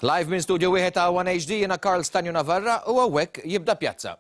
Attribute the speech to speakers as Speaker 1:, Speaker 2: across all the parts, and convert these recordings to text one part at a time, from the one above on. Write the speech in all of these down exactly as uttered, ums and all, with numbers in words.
Speaker 1: Live minn studio wieħed ta' One H D jiena Karl Stanju Navarra u hawnhekk jibda Pjazza.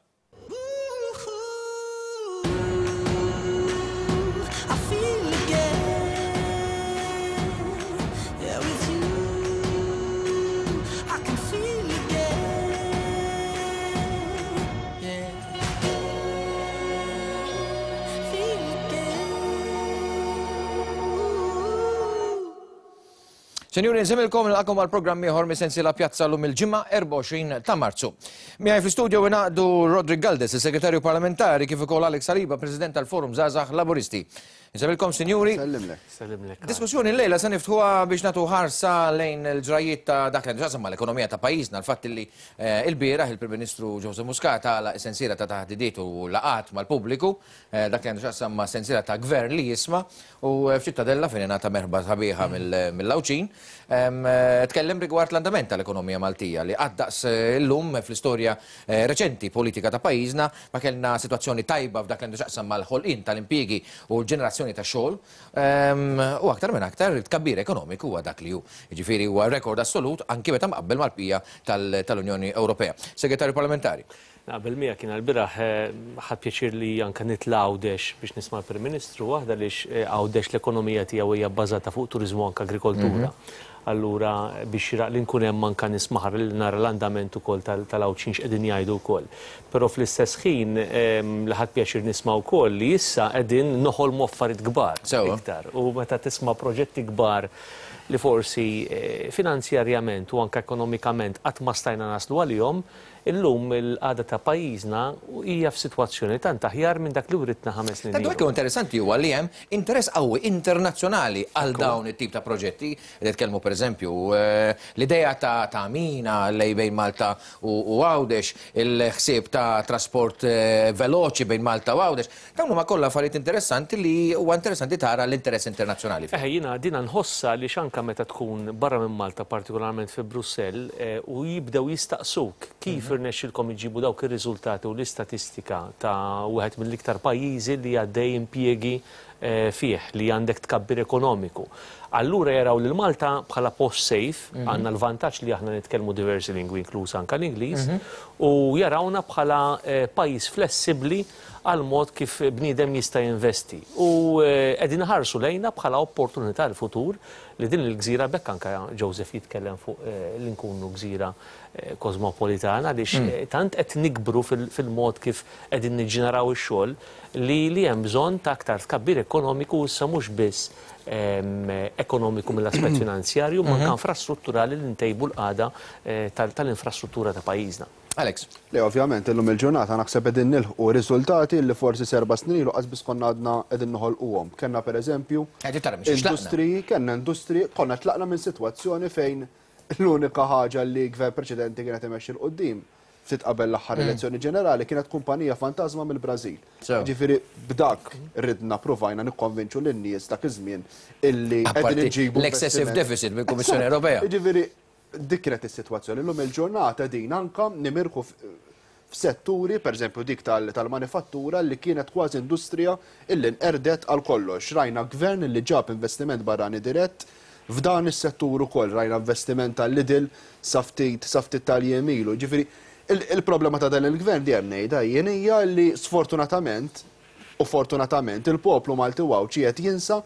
Speaker 1: Senjuri, nsemilkom nilqakom għal programm ieħor mis-sensiela Pjazza llum il-ġimgħa erbgħa u għoxrin ta' Marzu. Miegħi fl-istudio ingħaqdu Roderick Galdes, il-Segretarju Parlamentari, kif ukoll Alex Saliba, President tal-Forum Żgħażagħ Laburisti. Nsemilkom, sinjuri.
Speaker 2: Sellimlek.
Speaker 3: Sellimlek.
Speaker 1: Diskussjoni llejla se niftħuha biex nagħtu ħarsa lejn il-ġrajiet ta' dak li għandu mal-ekonomija ta' pajjiżna, l-fatt li il-bieraħ il-Prim Ministru Joseph Muscat għalaq sensiela ta' taħdidiet u laqat mal-pubbliku, dak li għandu x'jaqsam ma' sensiela ta' gvern li jisma' u f'Ċittadella fejn ingħata merħba sabiħa mill-Għawdxin. Tkellem rigward l-andament tal-ekonomija Maltija li qatt daqs illum fl-istorja reċenti politika ta' pajjiżna ma kellna sitwazzjoni tajba f'dak li għandu x'jaqsam mal-ħolqien tal-impjiegi u l-ġenerazzjoni ta' xogħol, u aktar minn aktar it-tkabbir ekonomiku huwa dak li hu. Jiġifieri huwa rekord assolut anki meta mqabbel mal-bqija tal-Unjoni Ewropea. Segretarju Parlamentari.
Speaker 3: Naqbel miegħek kien għall-bieraħ ħadd pjaċir li anke nitla' Għawdex biex nisma' l-Prim Ministru waħda għaliex Għawdex l-ekonomija tiegħu hija bbażata fuq turiżmu anke agrikoltura. Allura biex xieraq li nkun hemm anke nismaħar li nara l-andament ukoll tal-Għawdxin x'qegħdin jgħidu wkoll. Però fl-istess ħin li ħadd pjaċir nisma' wkoll li issa qegħdin noħolmu affarijiet kbar iktar. U meta tisma' proġetti kbar li forsi finanzjarjament u anke ekonomikament qatt ma stajna naslu għalihom, illum il-qagħda ta' pajjiżna hija f'sitwazzjoni tant aħjar minn dak li writna ħames snin.
Speaker 1: Dak li interessanti huwa li hemm interess qawwi internazzjonali għal dawn it-tip ta' proġetti. Qed nitkellmu pereżempju l-idea ta' mina lej bejn Malta u Għawdex, il-ħsieb ta' trasport veloċi bejn Malta u Għawdex. Dawn huma kollha affarijiet interessanti li huwa interessanti tara l-interess internazzjonali.
Speaker 3: Eħe, jiena dina nħossha li anke meta tkun barra minn Malta, partikolarment fi Brussell, u jibdew jistaqsuk kif irnexxilkom iġibu dawk ir-riżultati u l-istatistika ta' wieħed mill-iktar pajjiżi li għaddej impjiegi fih, li għandek tkabbir ekonomiku. Allura jaraw lil Malta bħala post safe, għandna l-vantaġġ li aħna nitkellmu diversi lingwi inkluż anke l-Ingliż, u jarawna bħala pajjiż flessibbli għal mod kif bniedem jista' jinvesti. U qegħdin ħarsu lejna bħala opportunità l-futur li din il-gżira bekk anke Joseph jitkellem fuq li nkunu gżira kosmopolitana għaliex tant qed nikbru fil-mod kif qegħdin niġġeneraw ix-xogħol li li hemm bżonn ta' aktar tkabbir ekonomiku issa mhux biss ekonomiku mill-aspett finanzjarju, ma anke infrastrutturali li ntejbu l-qagħda tal-infrastruttura ta' pajjiżna.
Speaker 1: Alex.
Speaker 2: Le, ovvjament, illum il-ġurnata naħseb qegħdin nilħqu riżultati li forsi serba' snin ilu qas biss konna għadna qegħdin noħolquhom. Kellna pereżempju industriji, kellna industriji, konna tlaqna minn sitwazzjoni fejn l-unika ħaġa li gvern preċedenti kienet imexxi 'l quddiem ftit qabel l-aħħar elezzjoni ġenerali kienet kumpanija fantasma mill-Brażil. Ġifieri b'dak ridna provajna nikkonvinċu lin-nies dak iż-żmien illi qegħdin iġibu
Speaker 1: l-excessive deficit mill-Kummissjoni Ewropea.
Speaker 2: Ġifieri dik kienet is-sitwazzjoni. Illum il-ġurnata din anke nimirħu f'setturi, pereżempju dik tal-manifattura li kienet kważi industrija illi nqerdet għal kollox. Rajna gvern li ġab investiment barrani dirett f'dan is-settur ukoll, rajna investiment tal-Lidl sa ftit sa ftit tal-jiem ilu. Ġifieri il-problema ta' dan il-gvern dejjem ngħidha jien hija li sfortunatament u fortunatament il-poplu Malti u Għawdxi qed jinsa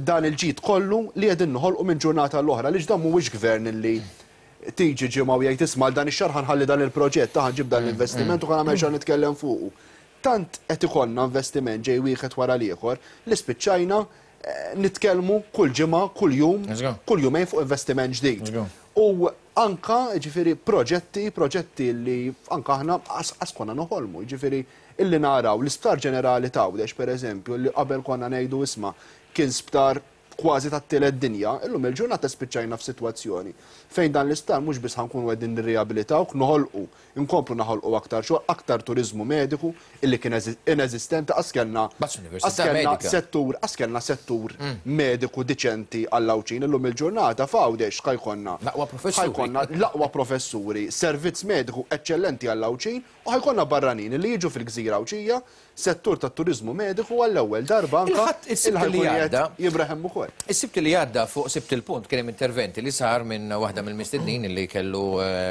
Speaker 2: dan il-ġid kollu li qegħdin noħolqu minn ġurnata l-oħra, għaliex dan mhuwiex gvern li tiġi ġimgħa u jgħid isma' dan ix-xahar ħanħalli dan il-proġett, ta' ħanġib dan l-investiment u ħanagħmel xahar nitkellem fuqu. Tant qed ikollna investiment ġej wieħed wara l-ieħor li spiċċajna nitkellmu kull ġimgħa, kull jum, kull jumejn fuq investiment ġdid. U anka ġifieri proġetti, proġetti li anka aħna qas konna noħolmu, ġifieri illi naraw l-Isptar Ġenerali ta' Għawdex pereżempju li qabel konna ngħidu isma' kien sptar kważi tat-tielet dinja, illum il-ġurnata spiċċajna f'sitwazzjoni fejn dan l-isptar mhux biss ħankunu qegħdin nirriabilitawk, noħolqu, inkomplu naħolqu aktar xogħol, aktar turiżmu mediku illi kien ineżistenti, qas kellna settur, qas kellna settur mediku diċenti għall-Għawdxin. Illum il-ġurnata f'Għawdex ħajkonna
Speaker 1: l-aqwa professuri,
Speaker 2: ħajkonna l-aqwa professuri, servizz mediku eċċellenti għall-Għawdxin u ħajkonna barranin li jiġu fil-gżira Għawdxija settur tat-turiżmu mediku għall-ewwel darba anka il-ħajja jibraħem ukoll.
Speaker 1: Is-Sibt li għadda fuq Sibt il-Punt kien hemm interventi li sar minn waħda mill-mistednin li kellu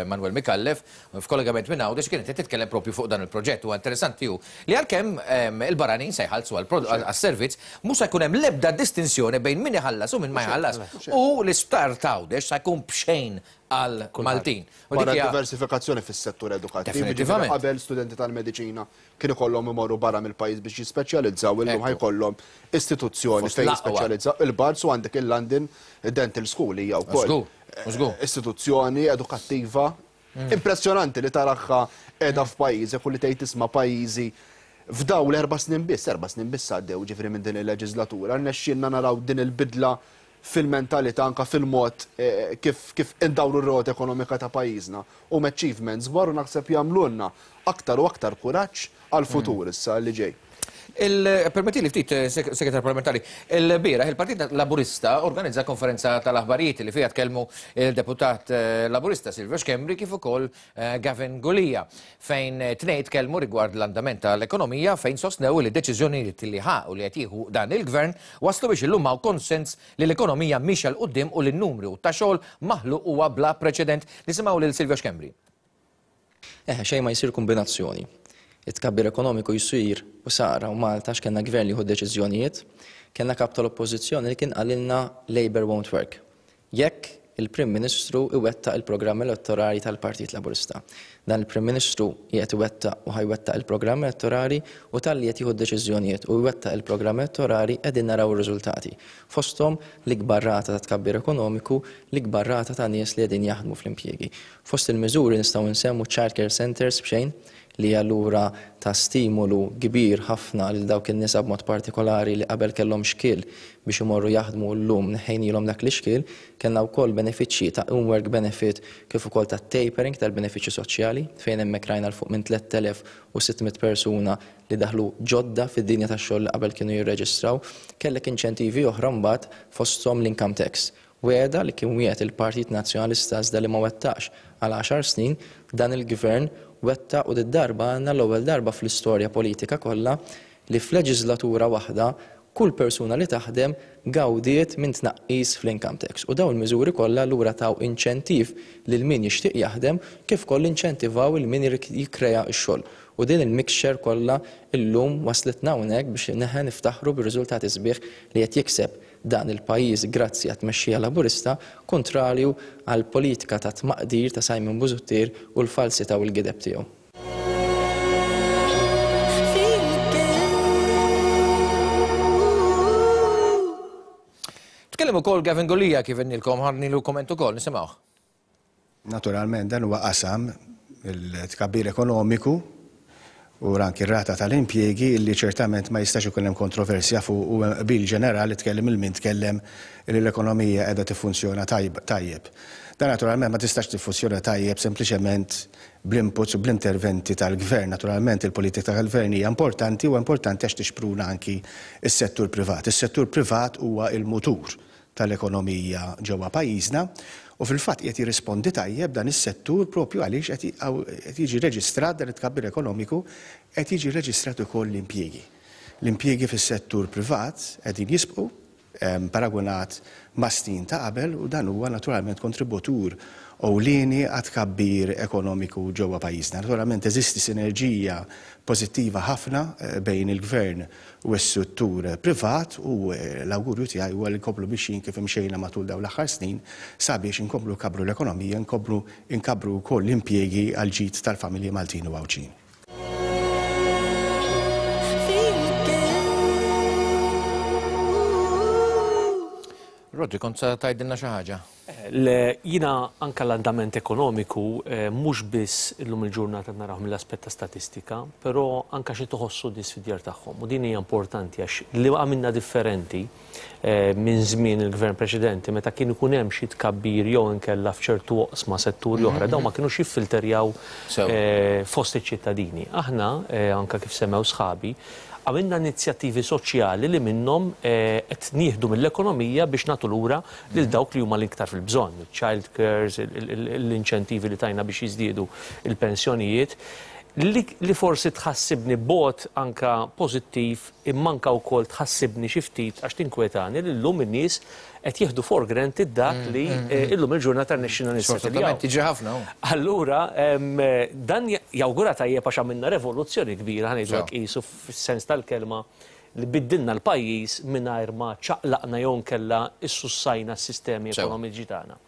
Speaker 1: Manuel Micallef f'kollegament minn Għawdex, kienet qed titkellem propju fuq dan il-proġett. Huwa interessanti hu li għalkemm il-barranin se jħallsu għas-servizz, mhux se jkun hemm l-ebda distinzjoni bejn min iħallas u min ma jħallas. U l-isptar t'Għawdex se jkun b'xejn għal Maltin.
Speaker 2: Wara diversifikazzjoni fis-settur edukattiv, qabel studenti tal-mediċina kienu kollhom imorru barra mill-pajjiż biex jispeċjalizzaw, illum ħajkollhom istituzzjoni fejn jispeċjalizzaw. Il-Barts u għandek il-London Dental School hija wkoll istituzzjoni edukattiva impressjonanti li taraħħa qiegħda f'pajjiżek u li tgħid tisma' pajjiżi f'daw l-erba' snin biss, erba' snin biss għaddew ġifieri minn din il-leġislatura, rnexxielna naraw din il-bidla fil-mentalità anka fil-mod kif kif indawru r-rota ekonomika ta' pajjiżna u achievements kbar u naħseb jagħmlulna aktar u aktar kuraġġ għall-futur issa li ġej.
Speaker 1: Permetti li ftit, segretar parlamentari, il-bieraħ il-Partit Laburista organizza konferenza tal-aħbarijiet li fiha tkellmu il-deputat Laburista Silvio Schembri kif ukoll Gavin Gulia, fejn tnejn tkellmu rigward l-andament tal-ekonomija, fejn sostnew li deċiżjonijiet li ħa u li qed jieħu dan il-gvern waslu biex illum hawn konsens li l-ekonomija mhix 'l quddiem u li n-numru ta' xogħol maħluq huwa bla preċedent. Nisimgħu lil Silvio Schembri.
Speaker 4: Eħe, xejn ma jsir kombinazzjoni. It-tkabbir ekonomiku jsir u sara u Malta x'kellna gvern li jieħu deċiżjonijiet, kellna kap tal-oppożizzjoni li kien qalilna Labour won't work. Jekk il-Prim Ministru iwettaq il-programm elettorali tal-Partit Laburista. Dan il-Prim Ministru qiegħed iwettaq u ħajwettaq il-programm elettorali u talli qed jieħu deċiżjonijiet u jwettaq il-programm elettorali qegħdin naraw ir-riżultati. Fosthom l-ikbar rata ta' tkabbir ekonomiku, l-ikbar rata ta' nies li qegħdin jaħdmu fl-impjiegi. Fost il-miżuri nistgħu nsemmu child care centers b'xejn, li allura ta' stimolu kbir ħafna lil dawk in-nisa b'mod partikolari li qabel kellhom xkiel biex imorru jaħdmu llum neħejnilhom dak l-ixkiel. Kellna wkoll benefiċċji ta' in-work benefit kif ukoll ta' tapering tal-benefiċċji soċjali, fejn hemmhekk rajna l fuq minn tliet elef u sitt mitt persuna li daħlu ġodda fid-dinja tax-xogħol li qabel kienu jirreġistraw. Kellek inċentivi oħra mbagħad fosthom l-income tax. Weda li kien wieħed il-Partit Nazzjonalista iżda li ma wettaqx għal għaxar snin, dan il-gvern wetta u d-darba għandna l-ewwel darba fl-istorja politika kollha li f'leġislatura waħda kull persuna li taħdem gawdiet minn tnaqqis fl-income tax. U dawn il-miżuri kollha lura taw inċentiv lil min jixtieq jaħdem kif koll inċentivaw il min jikkrea x-xogħol. U din il-mixture kollha illum waslitna hawnhekk biex neħe niftaħru bir-riżultati sbieħ li qed jikseb dan il-pajjiż grazzi għat-tmexxija Laburista, kontrarju għal politika ta' tmaqdir ta' Simon Busuttil u l-falsità u l-gideb tiegħu.
Speaker 1: Tkellem ukoll Gavin Gulia kif innilkom ħarnilu komment ukoll, nisimgħuh.
Speaker 5: Naturalment dan huwa qasam il-tkabbir ekonomiku u anki r-rata tal-impjiegi li ċertament ma jistax ikun hemm kontroversja fuq u qbil ġenerali tkellem il-min tkellem li l-ekonomija qiegħda tiffunzjona tajjeb. Dan naturalment ma tistax tiffunzjona tajjeb sempliċement bl-inputs u bl-interventi tal-gvern. Naturalment il-politika tal-gvern hija importanti u importanti għax tixpruna anki s-settur privat. Is-settur privat huwa il-mutur tal-ekonomija ġewwa pajjiżna u fil-fatt qed jirrispondi tajjeb dan is-settur propju għaliex qed jiġi reġistrat dan it-tkabbir ekonomiku, qed jiġi reġistrat ukoll l-impjiegi. L-impjiegi fis-settur privat qegħdin jisbqu paragunat ma' snin ta' qabel u dan huwa naturalment kontributur ewlieni għat tkabbir ekonomiku ġewwa pajjiżna. Naturalment eżisti sinerġija pożittiva ħafna bejn il-gvern u s-settur privat u l-awgurju tiegħi huwa li nkomplu mixjin kif imxejna matul dawn l-aħħar snin sabiex inkomplu nkabbru l-ekonomija, nkomplu nkabbru wkoll l-impjiegi għal ġid tal-familji Maltin u Għawdxin.
Speaker 1: Rodri, kont sa tgħidilna xi ħaġa?
Speaker 3: Jiena anke l-andament ekonomiku mhux biss illum il-ġurnata naraw mill-aspett ta' statistika, però anke xi toħossu nies fid-djar tagħhom. U din hija importanti għax li għamilna differenti minn żmien il-gvern preċedenti meta kien ikun hemm xi tkabbir jew inkella f'ċertu oqsma setturi oħra, dawn ma kinux jiffilterjaw fost iċ-ċittadini. Aħna anke kif semmew sħabi, għamilna inizjattivi soċjali li minnhom qed nieħdu mill-ekonomija biex nagħtu lura lil dawk li huma l-iktar fil-bżonn, child cares, l-inċentivi li tajna biex jiżdiedu il-pensjonijiet. Li, li forsi tħassibni bot anka pożittiv imma anka wkoll tħassibni xi ftit għax tinkwetani li llum in-nies qed jieħdu for granted dak li eh, illum il-ġurnata rnexxina
Speaker 1: Sfortunatament
Speaker 3: nissettiljaw.
Speaker 1: tiġi ħafna. hu.
Speaker 3: Allura, em, dan jawgura tajjeb għax għamilna revoluzzjoni kbira, ħa ngħidu
Speaker 1: Sew.
Speaker 3: hekk qisu fis-sens tal-kelma li biddilna l-pajjiż mingħajr ma ċaqlaqna jew nkella issussajna s-sistemi
Speaker 1: Sew.
Speaker 3: ekonomiċi tagħna.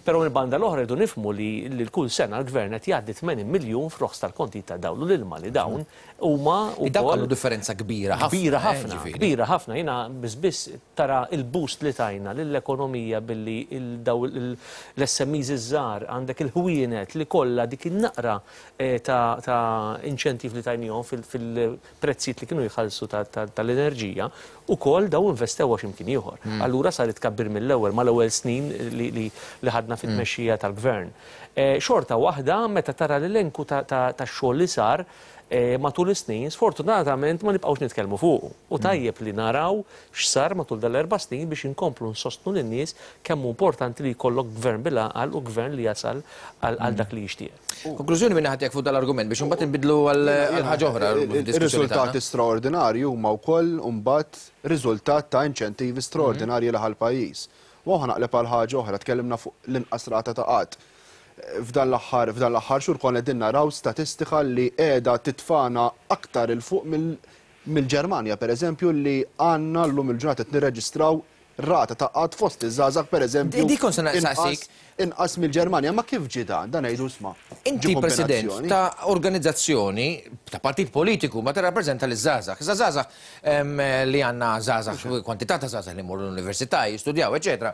Speaker 3: Però mill-banda l-oħra rridu nifhmu li li kull sena l-gvern qed jgħaddi tmenin miljun f'roħs tal-konti ta' dawl u l-ilma li dawn huma
Speaker 1: Li dak
Speaker 3: wkoll
Speaker 1: għandu differenza kbira ħafna.
Speaker 3: Kbira
Speaker 1: eh,
Speaker 3: ħafna,
Speaker 1: ġifieri.
Speaker 3: kbira ħafna. Jiena biss biss tara il-boost li tajna lill-ekonomija billi il-daw l-S M Es iż-żgħar, għandek il-ħwienet li kollha dik in-naqra eh, ta' ta' inċentiv li tajnihom fil- fil-prezzijiet li kienu jħallsu ta- ta- tal-enerġija, ukoll daw investew għax imkien ieħor. Allura saret tkabbir mill-ewwel mal-ewwel snin li, li, li ħadna fit-tmexxija tal-gvern. Eh, Xorta waħda meta tara l-elenku ta' ta' ta' xogħol li sar eh, matul is-snin, sfortunatament ma nibqgħux nitkellmu fuqu. U tajjeb li naraw x'sar matul dal-erba' snin biex inkomplu nsostnu lin-nies kemm hu importanti li jkollok gvern bil-għaqal u gvern li jasal għal għal dak li jixtieq.
Speaker 1: Konklużjoni minn ħadd fuq dal-argument biex imbagħad inbidlu għal għal ħaġa oħra fid-diskussjoni
Speaker 2: Il-riżultati
Speaker 1: tagħna.
Speaker 2: straordinarji huma wkoll mbagħad riżultat ta' inċentivi straordinarji li ħa l-pajjiż. U ħa naqleb għal ħaġa oħra, tkellimna fuq l-inqas rata ta' qgħad. F'dan l-aħħar f'dan l-aħħar xhur konna qegħdin naraw statistika li qiegħda titfana aktar 'il fuq mill- mill-Ġermanja, pereżempju, li għandna llum il-ġurnata qed nirreġistraw rata ta' qgħad fost iż-żgħażagħ, pereżempju,
Speaker 1: Di- Dik kont se
Speaker 2: inqas-
Speaker 1: naqsik.
Speaker 2: inqas mill-Ġermanja. Ma kif ġi dan? Dan ngħidu isma'.
Speaker 1: Inti
Speaker 2: ġi
Speaker 1: president
Speaker 2: kombinazzjoni.
Speaker 1: ta' organizzazzjoni, ta' partit politiku, ma tirrappreżenta l-żgħażagħ. Iżda żgħażagħ em, li għandna żgħażagħ, kwantità ta' żgħażagħ li morru l-università, jistudjaw, eċetera.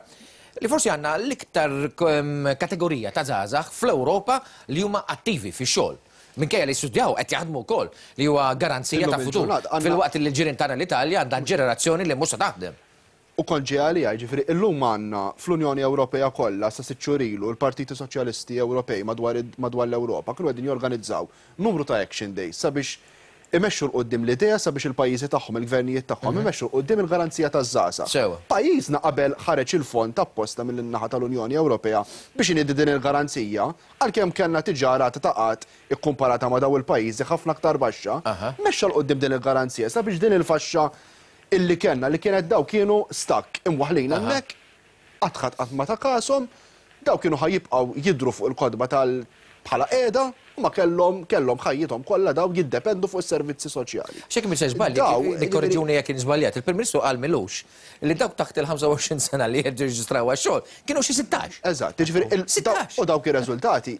Speaker 1: Li forsi għandna l-iktar em, kategorija ta' żgħażagħ fl-Ewropa li huma attivi fix-xogħol. Minkejja li jistudjaw qed jaħdmu wkoll, li huwa garanzija
Speaker 2: Illum
Speaker 1: ta' futur.
Speaker 2: il-ġurnata għandna-
Speaker 1: Filwaqt li l-ġirien tagħna l-Italja għandha ġenerazzjoni li mhux se taħdem.
Speaker 2: U kont ġej għalija, ġifieri, illum għandna fl-Unjoni Ewropea kollha sa sitt xhur ilu l-Partiti Soċjalisti Ewropej madwar madwar l-Ewropa kienu qegħdin jorganizzaw numru ta' action days sabiex imexxu 'l quddiem l-idea sabiex il-pajjiżi tagħhom, il-gvernijiet tagħhom imexxu 'l quddiem il-garanzija taż-żgħażagħ.
Speaker 1: Sewa.
Speaker 2: Pajjiżna qabel ħareġ il-fond apposta mill-naħa tal-Unjoni Ewropea biex iniedi din il-garanzija, għalkemm kellna diġà rata ta' qgħad ikkumparata ma' daw il-pajjiżi ħafna aktar baxxa,
Speaker 1: Aha.
Speaker 2: mexxa 'l quddiem din il-garanzija sabiex din il-faxxa illi kellna li kienet daw kienu stuck imwaħlin hemmhekk, qatt ħadd qatt ma ta kashom, daw kienu ħa jibqgħu jidru fuq il-kotba tal bħala qiegħda u ma kellhom kellhom ħajjithom kollha daw jiddependu fuq is-servizzi soċjali.
Speaker 1: Xek mi se żbalji,
Speaker 2: Daw,
Speaker 1: nikkorreġuni jekk żbaljat, il-Prim Ministru qal m'ilux li dawk taħt il-ħamsa u għoxrin sena li jirreġistraw għax-xogħol kienu xi sittax.
Speaker 2: Eżatt, jiġifieri il-
Speaker 1: Sittax.
Speaker 2: daw- u dawk ir-riżultati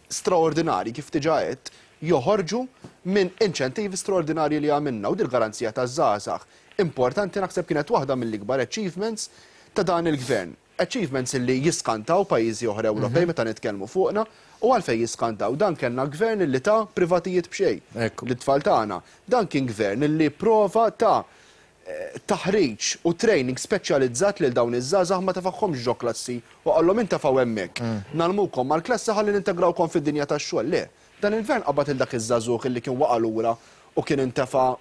Speaker 2: straordinari kif diġà għedt joħorġu minn inċentivi straordinarji li għamilna u dil-garanzija ta' żgħażagħ. Importanti, naħseb kienet waħda mill-ikbar achievements ta' dan il-gvern. Achievements li jiskantaw pajjiżi oħra Ewropej meta nitkellmu fuqna u għalfejn jiskantaw dan kellna gvern li ta' privatijiet b'xejn.
Speaker 1: Ekku.
Speaker 2: L-tfal tagħna. Dan kien gvern li prova ta' eh, taħriġ u training speċjalizzat lil dawn iż-żgħażagħ, ma tefagħhomx ġo klassi u qallhom intefgħu hemmhekk. Ngħallmukom mal-klassi ħalli nintegrawkom fid-dinja tax-xogħol. Le, dan il-gvern qabad il dak iż-żagħżugħ illi kien waqa' lura u kien intefa'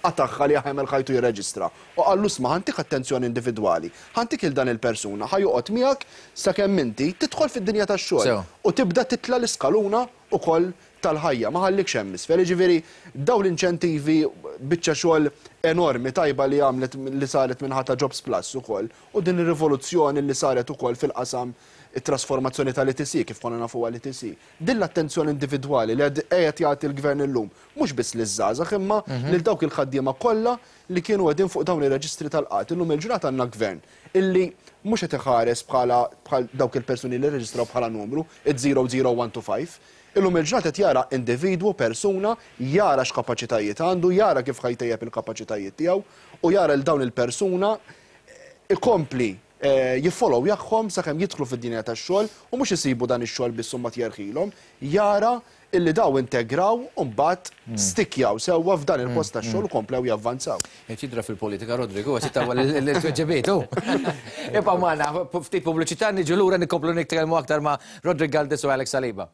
Speaker 2: qatagħha li għamel ħajtu jirreġistra. U qallu isma', ħa ntik attenzjoni individwali. Ħa ntik il dan il-persuna, ħa joqgħod miegħek sakemm inti tidħol fid-dinja tax-xogħol
Speaker 1: Sew.
Speaker 2: u tibda titla l-iskaluna ukoll tal-ħajja, ma ħallikx hemm isfel. Jiġifieri daw l-inċentivi, biċċa xogħol enormi tajba li għamlet li saret minn ta' Jobs Plus ukoll u din ir-rivoluzzjoni li saret ukoll fil-qasam it-trasformazzjoni tal-E T C kif konna nafu għal-E T C. Din l-attenzjoni individwali li għad qiegħed jagħti l-gvern illum, mhux biss liż-żgħażagħ imma lil dawk il-ħaddiema kollha li kienu qegħdin fuq dawn ir-reġistri tal-qgħad. Illum il-ġurnata għandna gvern illi mhux qed iħares bħala bħal dawk il-persuni li rreġistraw bħala numru, it-zero zero one two five. Illum il-ġurnata qed jara individwu, persuna, jara x'kapaċitajiet għandu, jara kif ħa jtejjeb il-kapaċitajiet tiegħu u jara l dawn il-persuna ikompli eh, jiffollow jagħhom sakemm jidħlu fid-dinja tax-xogħol u mhux isibu dan ix-xogħol biss ma tjerħilhom, jara illi daw integraw u mbagħad stikjaw sewwa f'dan il-post tax-xogħol u komplew javvanzaw.
Speaker 1: Qed jidra fil-politika Rodrigo, għax tawa l-tweġibiet, hu. Ibqa' magħna, ftit pubbliċità, niġu lura nikomplu nitkellmu aktar ma' Roderick Galdes u Alex Saliba.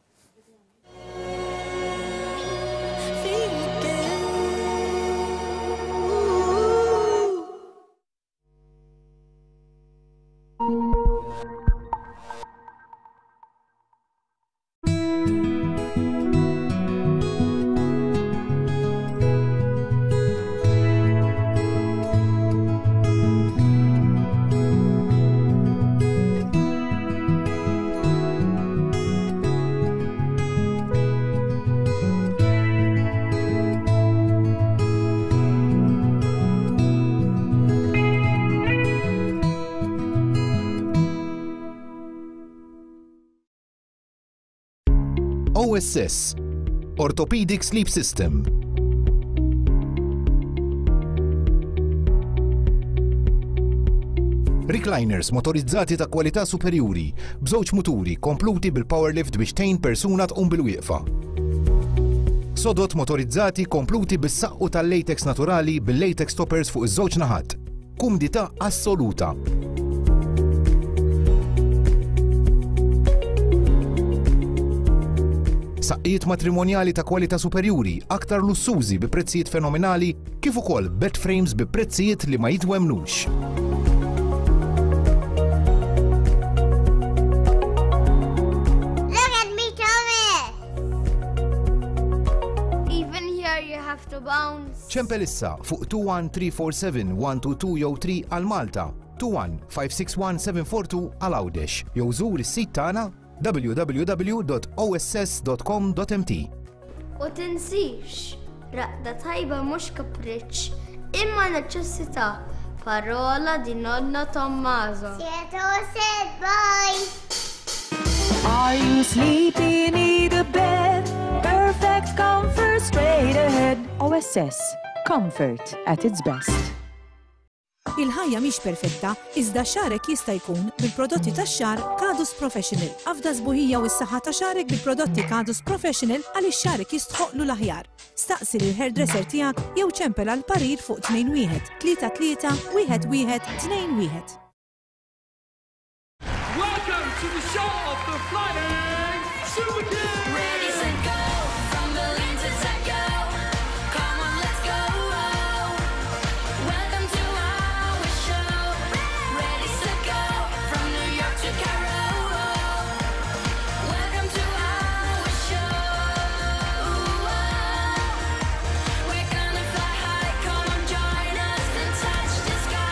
Speaker 6: O S S, Orthopedic Sleep System. Recliners motorizzati ta' kwalità superjuri, b'żewġ muturi kompluti bil-powerlift biex tgħin persuna tqum bil-wieqfa. Sodot motorizzati kompluti bis-saqqu tal-latex naturali bil-latex toppers fuq iż-żewġ naħat. Kumdità assoluta. Saqqijiet matrimonjali ta' kwalità superjuri, aktar lussużi bi prezzijiet fenomenali, kif ukoll bed frames bi prezzijiet li ma jitwemnux.
Speaker 7: Look at me, Thomas! Even here you have to bounce.
Speaker 6: Ċempel issa fuq two one three four seven one two two jew three għal Malta, two one five six one seven four two għal Għawdex, jew żur is-sit tagħna w w w dot o s s dot com dot m t.
Speaker 7: U tinsix, raqda tajba mhux kapriċċ, imma neċessità. Parola di nonna Tommaso. Sieto said bye.
Speaker 8: Are you sleepy? Need a bed? Perfect comfort straight ahead. O S S, comfort at its best.
Speaker 9: Il-ħajja mhix perfetta, iżda xarek jista' jkun bil-prodotti tax-xar Kadus Professional. Afda sbuħija u s-saħħa ta' xarek bil-prodotti Kadus Professional għaliex xarek jistħoqlu l-aħjar. Staqsi lil hairdresser tiegħek jew ċempel għal parir fuq tnejn wieħed tlieta tlieta wieħed wieħed tnejn wieħed.
Speaker 10: Welcome to the show of the Flying Super Kids!
Speaker 11: Ready, set, go! From Berlin to Tokyo. Come on, let's go! Welcome to our show. Ready, set, go! From New York to Cairo. Welcome to our show. We're gonna fly high. Come on, join us and touch the sky.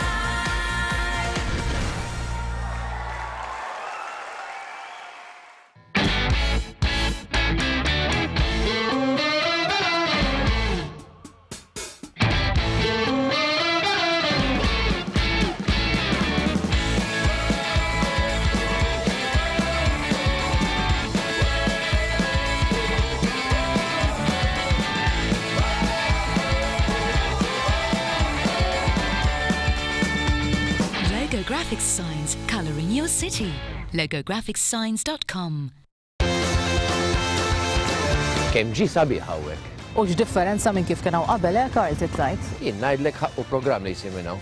Speaker 12: Logo Graphics Signs, colouring your city. logo graphics signs dot com.
Speaker 1: Kemm ġie sabiħ hawnhekk.
Speaker 13: U x'differenza minn kif kien hawn qabel, eh, Karl, titlajt?
Speaker 1: Jien ngħidlek ħaqqu programm li jsir minn hawn.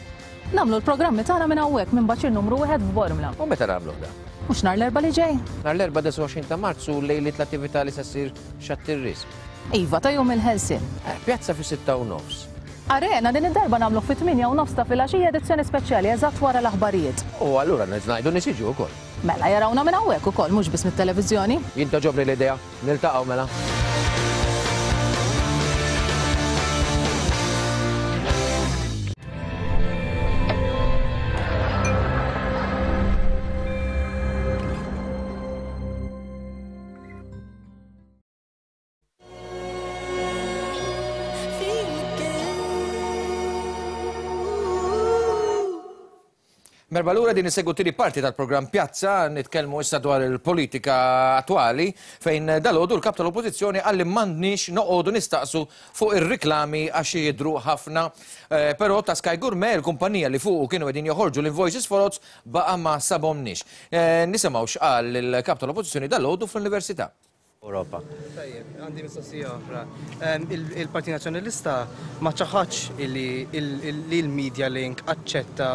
Speaker 13: Nagħmlu l-programmi tagħna minn hawnhekk minn baċir numru wieħed f'Bormla.
Speaker 1: U meta nagħmluh da?
Speaker 13: Mhux nhar l-Erbgħa li ġej?
Speaker 1: Nhar l-Erbgħa disgħa u għoxrin ta' Marzu lejliet l-attività li se ssir Xatt ir-Risq.
Speaker 13: Iva, ta' jum il-Ħelsien.
Speaker 1: Eh, pjazza fi sitta u nofs.
Speaker 13: Arena din id-darba nagħmlu fi tmienja u nofs ta' filgħaxija edizzjoni speċjali eżatt wara l-aħbarijiet.
Speaker 1: U allura ngħidu nies jiġu wkoll.
Speaker 13: Mela jarawna minn hawnhekk ukoll mhux biss mit-televiżjoni.
Speaker 1: Jien toġobni l-idea, niltaqgħu mela. Merba lura din isegwu tieni parti tal-programm Pjazza, nitkellmu issa dwar il-politika attwali fejn dalgħodu l-kap tal-Oppożizzjoni qal li m'għandniex noqogħdu nistaqsu fuq ir-riklami għax jidhru ħafna. Eh, però ta' Sky Gourmet, il-kumpanija li fuqu kienu qegħdin joħorġu l-invoices folots baqa' ma sabhomniex. Eh, nisimgħu x'qal il-kap tal-Oppożizzjoni dalgħodu fl-Università.
Speaker 14: Europa.
Speaker 15: Tajjeb, għandi mistoqsija oħra. Em, il-, Il-Partit Nazzjonalista ma ċaħadx illi il-, il-Media Link aċċetta,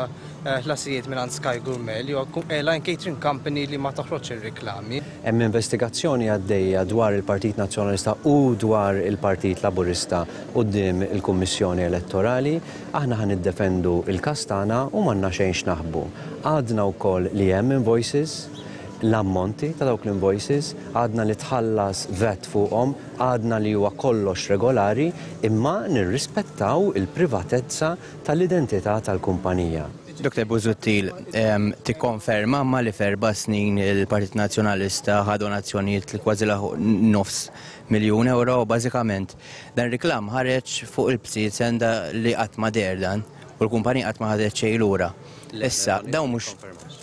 Speaker 15: eh, ħlasijiet minn Sky Gourmet li huwa ku-, airline catering company li ma toħroġ ir-reklami.
Speaker 14: Hemm investigazzjoni għaddejja dwar il-Partit Nazzjonalista u dwar il-Partit Laburista quddiem il-Kummissjoni Elettorali. Aħna ħan niddefendu il-każ tagħna u m'għandna xejn x'naħbu. Għadna wkoll li hemm invoices, l-ammonti ta' dawk l-invoices, għadna li tħallas V A T fuqhom, għadna li huwa kollox regolari, imma nirrispettaw il-privatezza tal-identità tal-kumpanija.
Speaker 4: Doktor Busuttil, em, tikkonferma ma li f'erba' snin il-Partit Nazzjonalista ħa donazzjonijiet li kważi laħu nofs miljun euro, bażikament dan reklam ħareġ fuq il-bsiet senda li qatt ma deher dan.
Speaker 16: U l-kumpanija qatt ma ħadet xejn lura. Issa, dawn mhux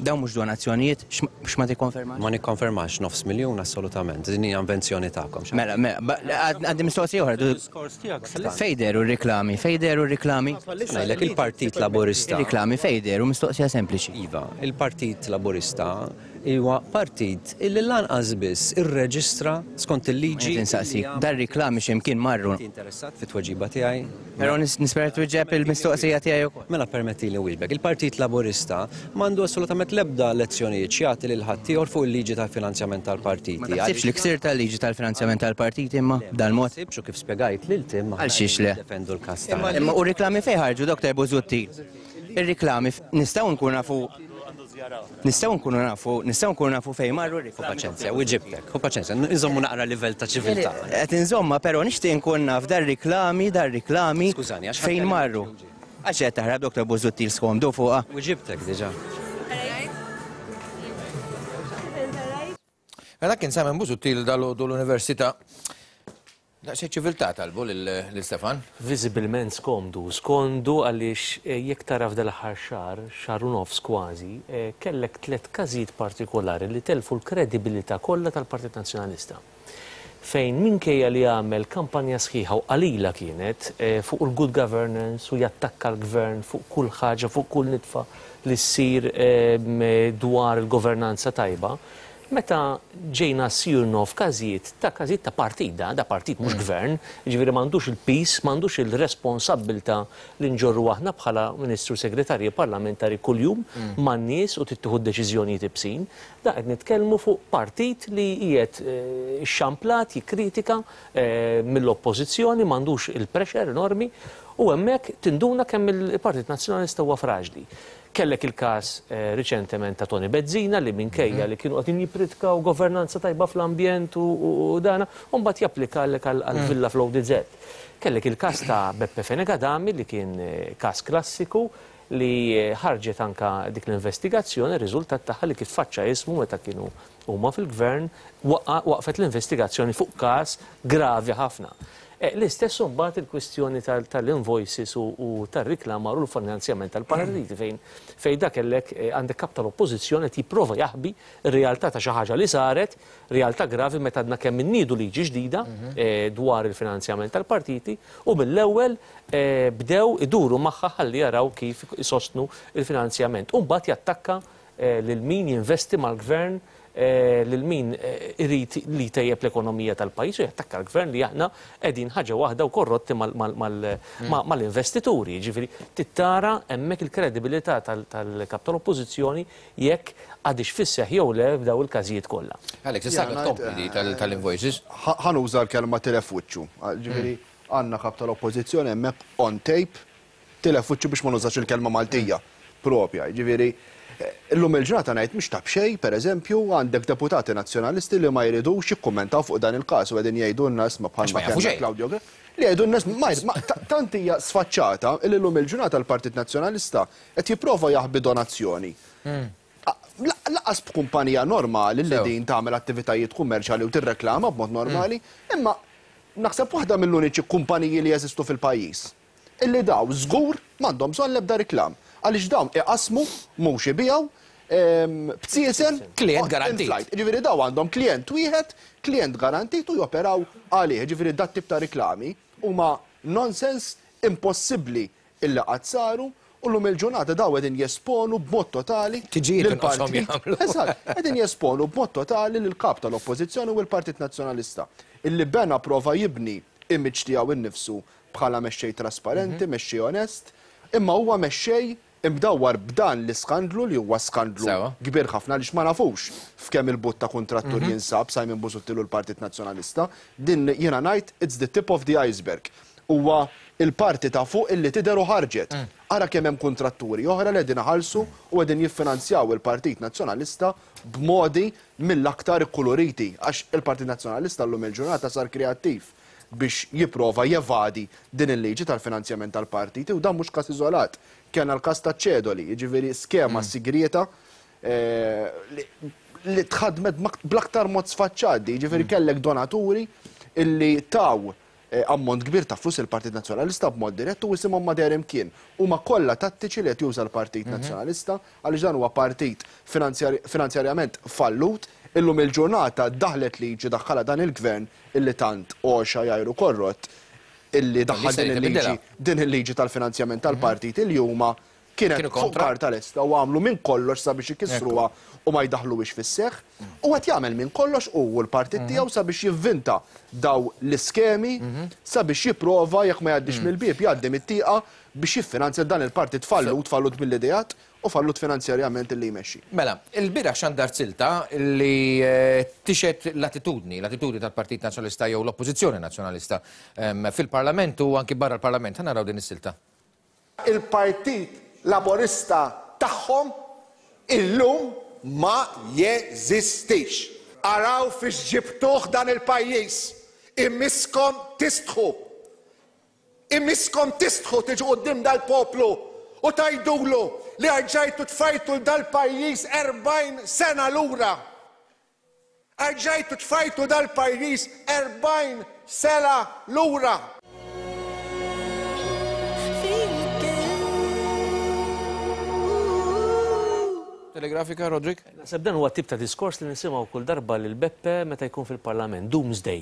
Speaker 16: dawn mhux donazzjonijiet, x'ma tikkonfermax?
Speaker 14: Ma nikkonfermax nofs miljun assolutament, din hija invenzjoni tagħkom.
Speaker 16: Mela, mela, għandi mistoqsija oħra. Fejn dehru r-riklami, fejn dehru r-riklami?
Speaker 14: Ngħidlek il-Partit Laburista.
Speaker 16: Ir-riklami fejn dehru, mistoqsija sempliċi.
Speaker 14: Iva, il-Partit Laburista huwa partit illi lanqas biss irreġistra skont il-liġi.
Speaker 16: Insaqsik, dar-riklami x'imkien marru.
Speaker 14: Interessat fit-tweġiba tiegħi?
Speaker 16: Però nispera twieġeb il-mistoqsija tiegħi wkoll.
Speaker 14: Mela permettili nwieġbek. Il-Partit Laburista m'għandu assolutament l-ebda lezzjonijiet x'jagħti lil ħaddieħor fuq il-liġi tal-finanzjament tal-partiti.
Speaker 16: Ma taħsibx li ksir tal-liġi tal-finanzjament tal-partiti imma b'dal-mod?
Speaker 14: Ma kif spjegajt lil Tim.
Speaker 16: Għal xiex le?
Speaker 14: Defendu l-każ.
Speaker 16: Imma u riklami fejn ħarġu, Doktor Busuttil? Ir-riklami nistgħu nkunu nafu Nistgħu nkunu nafu, nistgħu nkunu nafu fejn marru r-riklami.
Speaker 14: Paċenzja, u ġibtek, u paċenzja, nżommu naqra livell ta' ċiviltà.
Speaker 16: Qed inżomma, però nixtieq nkun naf dar-riklami, dar-riklami fejn marru. Għax qed taħrab Doktor Busuttil skomdu fuqha.
Speaker 14: U ġibtek diġà.
Speaker 1: Mela kien Simon Busuttil dal-għodu l-Università. Daqsxejn ċiviltà talbu lil Stefan.
Speaker 3: Viżibilment skomdu, skomdu għaliex jekk tara f'dal-aħħar xahar, xahar u nofs kważi, kellek tliet każijiet partikolari li telfu l-kredibilità kollha tal-Partit Nazzjonalista. Fejn minkejja li għamel kampanja sħiħa u qalila kienet fuq il-good governance u jattakka l-gvern fuq kull ħaġa, fuq kull nitfa li ssir dwar il-governanza tajba, meta ġejna sirno f'każijiet ta' każijiet ta' partit, da, da partit mhux gvern, jiġifieri m'għandux il-pis, m'għandux il-responsabbiltà li nġorru aħna bħala Ministru Segretarji Parlamentari kuljum man-nies u tittieħu deċiżjonijiet ibsin. Da qed nitkellmu fuq partit li qiegħed xamplat jikkritika mill-oppożizzjoni, m'għandux il-pressure enormi u hemmhekk tinduna kemm il-Partit Nazzjonalista huwa fraġli. Kellek il-każ riċentement ta' Tony Bezzina li minkejja li kienu qegħdin jippritkaw governanza tajba fl-ambjent u dana, u mbagħad japplikalek għall-villa fl-O D Z. Kellek il-każ ta' Beppe Fenech Adami li kien każ klassiku li ħarġet anka dik l-investigazzjoni, riżultat tagħha li kif faċċa ismu meta kienu huma fil-gvern waqfet l-investigazzjoni fuq każ gravi ħafna. L-istess mbagħad il-kwistjoni tal-invoices u tar-riklamar u l-finanzjament tal-partiti fejn fejn dak kellek għandek kap tal-oppożizzjoni qed jipprova jaħbi r-realtà ta' xi ħaġa li saret, realtà gravi meta għadna kemm inniedu liġi ġdida dwar il-finanzjament tal-partiti u mill-ewwel bdew iduru magħha ħalli jaraw kif isostnu il-finanzjament. U mbagħad jattakka lil min jinvesti mal-gvern, lil min irid li tejjeb l-ekonomija tal-pajjiż u jattakka l-gvern li aħna qegħdin ħaġa waħda u korrotti mal-investituri. Jiġifieri tittara hemmhekk il-kredibilità tal-kap tal-oppożizzjoni jekk għadix fisseħ jew le f'daw il-każijiet kollha.
Speaker 1: Alex, issa tkompli tal-invoices.
Speaker 2: Ħa nuża l-kelma tilef wiċċu. Ġifieri għandna kap tal-oppożizzjoni hemmhekk on tape tilef wiċċu biex ma nużax il-kelma Maltija propja. Ġifieri illum il-ġurnata ngħid mhux ta' b'xejn, pereżempju, għandek deputati nazzjonalisti li ma jridux jikkummentaw fuq dan il-każ u qegħdin jgħidulna isma' bħalma kien Claudio Grech, li jgħidulna isma' tant hija sfaċċata li llum il-ġurnata l-Partit Nazzjonalista qed jipprova jaħbi donazzjoni. Laqas b'kumpanija normali li din tagħmel attivitajiet kummerċjali u tirreklama b'mod normali, imma naħseb waħda mill-uniċi kumpaniji li jeżistu fil-pajjiż illi daw żgur m'għandhom bżonn l-ebda reklam. Għaliex dawn iqasmu mhux ibijaw b'siesen
Speaker 1: klient garantit.
Speaker 2: Ġifieri daw għandhom klient wieħed, klient garantit u joperaw għalih. Ġifieri dat tip ta' riklami huma nonsens impossibbli illi qatt saru u llum il-ġurnata daw qegħdin jesponu b'mod totali.
Speaker 1: Tiġijiet jagħmlu.
Speaker 2: Eżatt, qegħdin jesponu b'mod totali lill-kap tal-Oppożizzjoni u l-Partit Nazzjonalista illi bena prova jibni image tiegħu innifsu bħala mexxej trasparenti, mexxej onest, imma huwa mexxej imdawwar b'dan l-iskandlu li huwa skandlu kbir ħafna għaliex ma nafux f'kemm il-but ta' kontrattur jinsab Simon Busuttil u l-Partit Nazzjonalista. Din jiena ngħid it's the tip of the iceberg. Huwa il-parti ta' fuq illi tidher u ħarġet. Ara kemm hemm kontratturi oħra li qegħdin iħallsu u qegħdin jiffinanzjaw il-Partit Nazzjonalista b'modi mill-aktar ikkuluriti għax il-Partit Nazzjonalista llum il-ġurnata sar kreattiv biex jipprova jevadi din il-liġi tal-finanzjament tal-partiti u dan mhux każ iżolat. Kellna l-każ ta' ċedoli, jiġifieri skema sigrieta li tħadmet bl-aktar mod sfaċċati, jiġifieri kellek donaturi illi taw ammont kbir ta' flus il-Partit Nazzjonalista b'mod dirett u isimhom ma deher imkien. Huma kollha tattiċi li qed juża l-Partit Nazzjonalista għaliex dan huwa partit finanzjarjament fallut. Illum il-ġurnata daħlet liġi daħħalha dan il-gvern illi tant għoxa jajru korrott illi daħħal din il-liġi din il-liġi tal-finanzjament tal-partit illi huma kienet fuq karta lesta u għamlu minn kollox sabiex ikissruha u ma jdaħluhiex fis-seħħ, u qed jagħmel minn kollox u l-partit tiegħu sabiex jivvinta daw l-iskemi sabiex jipprova jekk ma jgħaddix mill-bieb jgħaddi mit-tieqa biex jiffinanzja dan il-partit fallut, fallut mill-ideat u fallut finanzjarjament illi jmexxi.
Speaker 1: Mela, il-bieraħ xandar silta li tixet l-attitudni, l-attitudni tal-Partit Nazzjonalista jew l-Oppożizzjoni Nazzjonalista fil-Parlament u anki barra l-Parlament. Ħa naraw din is-silta.
Speaker 17: Il-Partit Laburista tagħhom illum ma jeżistix. Araw fiex ġibtuh dan il-pajjiż. Immiskom tistħu. Immiskom tistħu tiġu quddiem dal-poplu u tajdulu li rġajtu tfajtu dal-pajjiż erbgħin sena lura. Rġajtu tfajtu dal-pajjiż erbgħin sena lura.
Speaker 1: Telegrafika, Rodrik?
Speaker 3: Naħseb dan huwa tip ta' diskors li nisimgħu kull darba lil Beppe meta jkun fil-Parlament, Doomsday.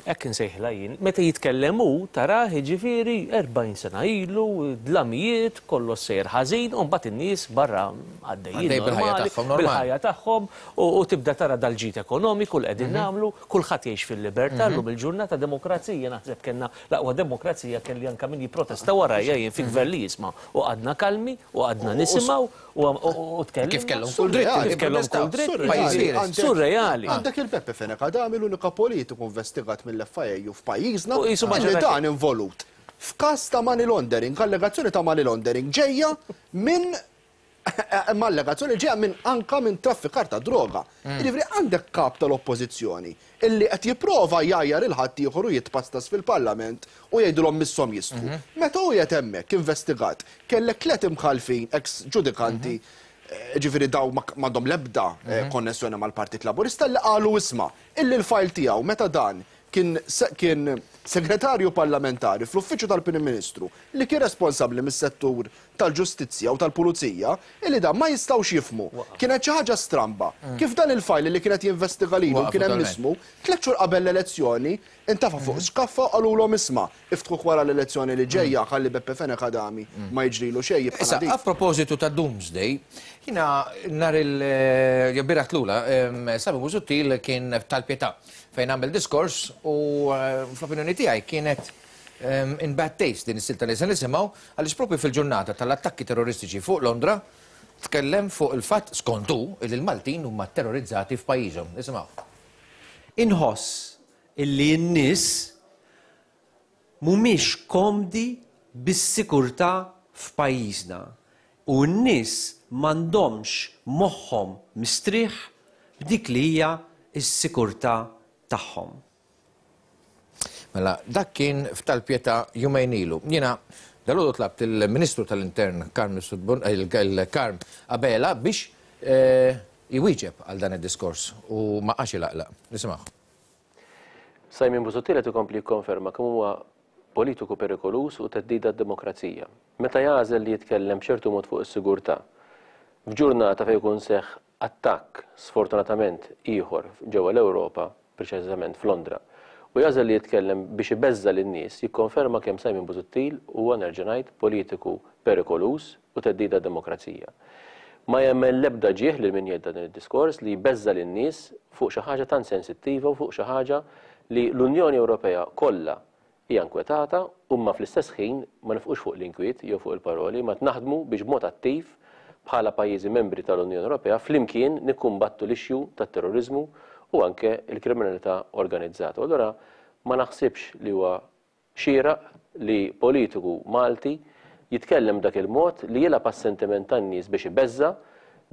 Speaker 3: Hekk insejħla jien. Meta jitkellem hu tarah jiġifieri erbgħin sena ilu, dlamijiet, kollox sejjer ħażin, u mbagħad in-nies barra għaddejjin bil-ħajja tagħhom u tibda tara dal-ġid ekonomiku li qegħdin nagħmlu, kulħadd jgħix fil-libertà llum il-ġurnata demokrazija, naħseb kellna l-aqwa demokrazija kelli anke min jipprotesta warajja jien fi gvern li jisma' u għadna kalmi u għadna nisimgħu u tkellem.
Speaker 1: Kif kellhom kull dritt,
Speaker 3: kif kellhom kull dritt, surreali.
Speaker 2: Għandek il-Beppe Fenech Adami l-unika politiku investigat mill-F I A U f'pajjiżna li dan involut f'każ ta' money laundering, allegazzjoni ta' money laundering ġejja minn allegazzjoni ġejja minn anka minn traffikar ta' droga. Jiġifieri għandek kap tal-oppożizzjoni illi qed jipprova jgħajjar il-ħadd ieħor u jitpastas fil-Parlament u jgħidulhom misshom jistħu. Meta hu qed hemmhekk investigat kellek tliet imħalfin ex ġudikanti, ġifieri daw m'għandhom l-ebda konnessjoni mal-Partit Laburista li qalu isma' illi l-fajl tiegħu meta dan kien segretarju parlamentari fl-uffiċċju tal-Prim Ministru li kien responsabbli mis-settur tal-ġustizzja u tal-pulizija illi dan ma jistgħux jifhmu. Kienet xi ħaġa stramba. Kif dan il-fajl li kienet jinvestiga lilu kien hemm ismu, tliet xhur qabel l-elezzjoni intafa' fuq xkaffa u qalulhom isma' iftħuh wara l-elezzjoni li ġejja ħalli Beppe Fenech Adami ma jiġrilu xejn jibqa'
Speaker 1: Issa, a propositu ta' Doomsday, jiena nhar il-bieraħ tlula, Simon Busuttil kien tal-Pietà fejn għamel diskors u fl-opinjoni tiegħi kienet in bad taste din is-silta li se nisimgħu għaliex propju fil-ġurnata tal-attakki terroristiċi fuq Londra tkellem fuq il-fatt skontu li l-Maltin huma terrorizzati f'pajjiżhom. Nisimgħu.
Speaker 18: Inħoss illi n-nies mhumiex komdi bis-sikurtà f'pajjiżna u n-nies m'għandhomx moħħhom mistrieħ b'dik li hija s-sikurtà tagħhom.
Speaker 1: Mela, dak kien f'tal-Pietà jumejn ilu. Jiena dalgħodu tlabt il-Ministru tal-Intern Karm il-Karm Abela biex jwieġeb għal dan id-diskors u ma qax ilaqlaq. Nisimgħu.
Speaker 19: Simon Busuttil qed ikompli jikkonferma kemm huwa politiku perikolus u theddida d-demokrazija. Meta jagħżel li jitkellem b'ċertu mod fuq is-sigurtà, f'ġurnata fejn jkun seħħ attakk sfortunatament ieħor ġewwa l-Ewropa, preċiżament f'Londra, u jażel li jitkellem biex ibeżża lin-nies, jikkonferma kemm Simon Busuttil huwa nerġa' ngħid politiku perikolus u theddida d-demokrazija. Ma jagħmel l-ebda ġieħ lil min jgħid dan id-diskors li jbeżża lin-nies fuq xi ħaġa tant sensittiva u fuq xi ħaġa li l-Unjoni Ewropea kollha hija nkwetata, u ma fl-istess ħin ma nifqux fuq l-inkwiet jew fuq il-paroli, ma naħdmu biex b'mod attiv bħala pajjiżi membri tal-Unjoni Ewropea flimkien nikkumbattu l-issue tat-terrorizmu u anke l-kriminalità organizzata. U allura ma naħsibx li huwa xieraq li politiku Malti jitkellem dak il-mod li jilgħab għas-sentiment tan-nies biex ibeżża'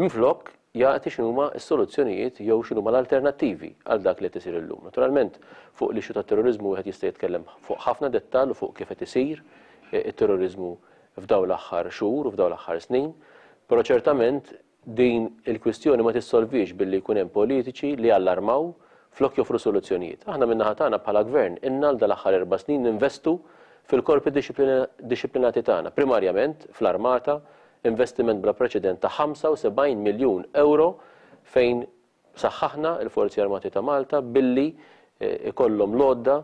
Speaker 19: minflok jagħti x'inhuma s-soluzzjonijiet jew x'inhuma l-alternattivi għal dak li qed isir illum. Naturalment fuq l-issue tat-terrorizmu wieħed jista' jitkellem fuq ħafna dettall u fuq kif qed isir it-terrorizmu f'dawn l-aħħar xhur u f'dawn l-aħħar snin, però ċertament din il-kwistjoni ma tissolvix billi jkun hemm politiċi li allarmaw Flok joffru soluzzjonijiet. Aħna min-naħa tagħna bħala gvern inna l dal-aħħar erba' snin ninvestu fil-korpi dixxiplinati tagħna, primarjament fl-armata, investiment bla preċedent ta' ħamsa u sebgħin miljun euro fejn saħħaħna l-Forzi Armati ta' Malta billi ikollhom l-għodda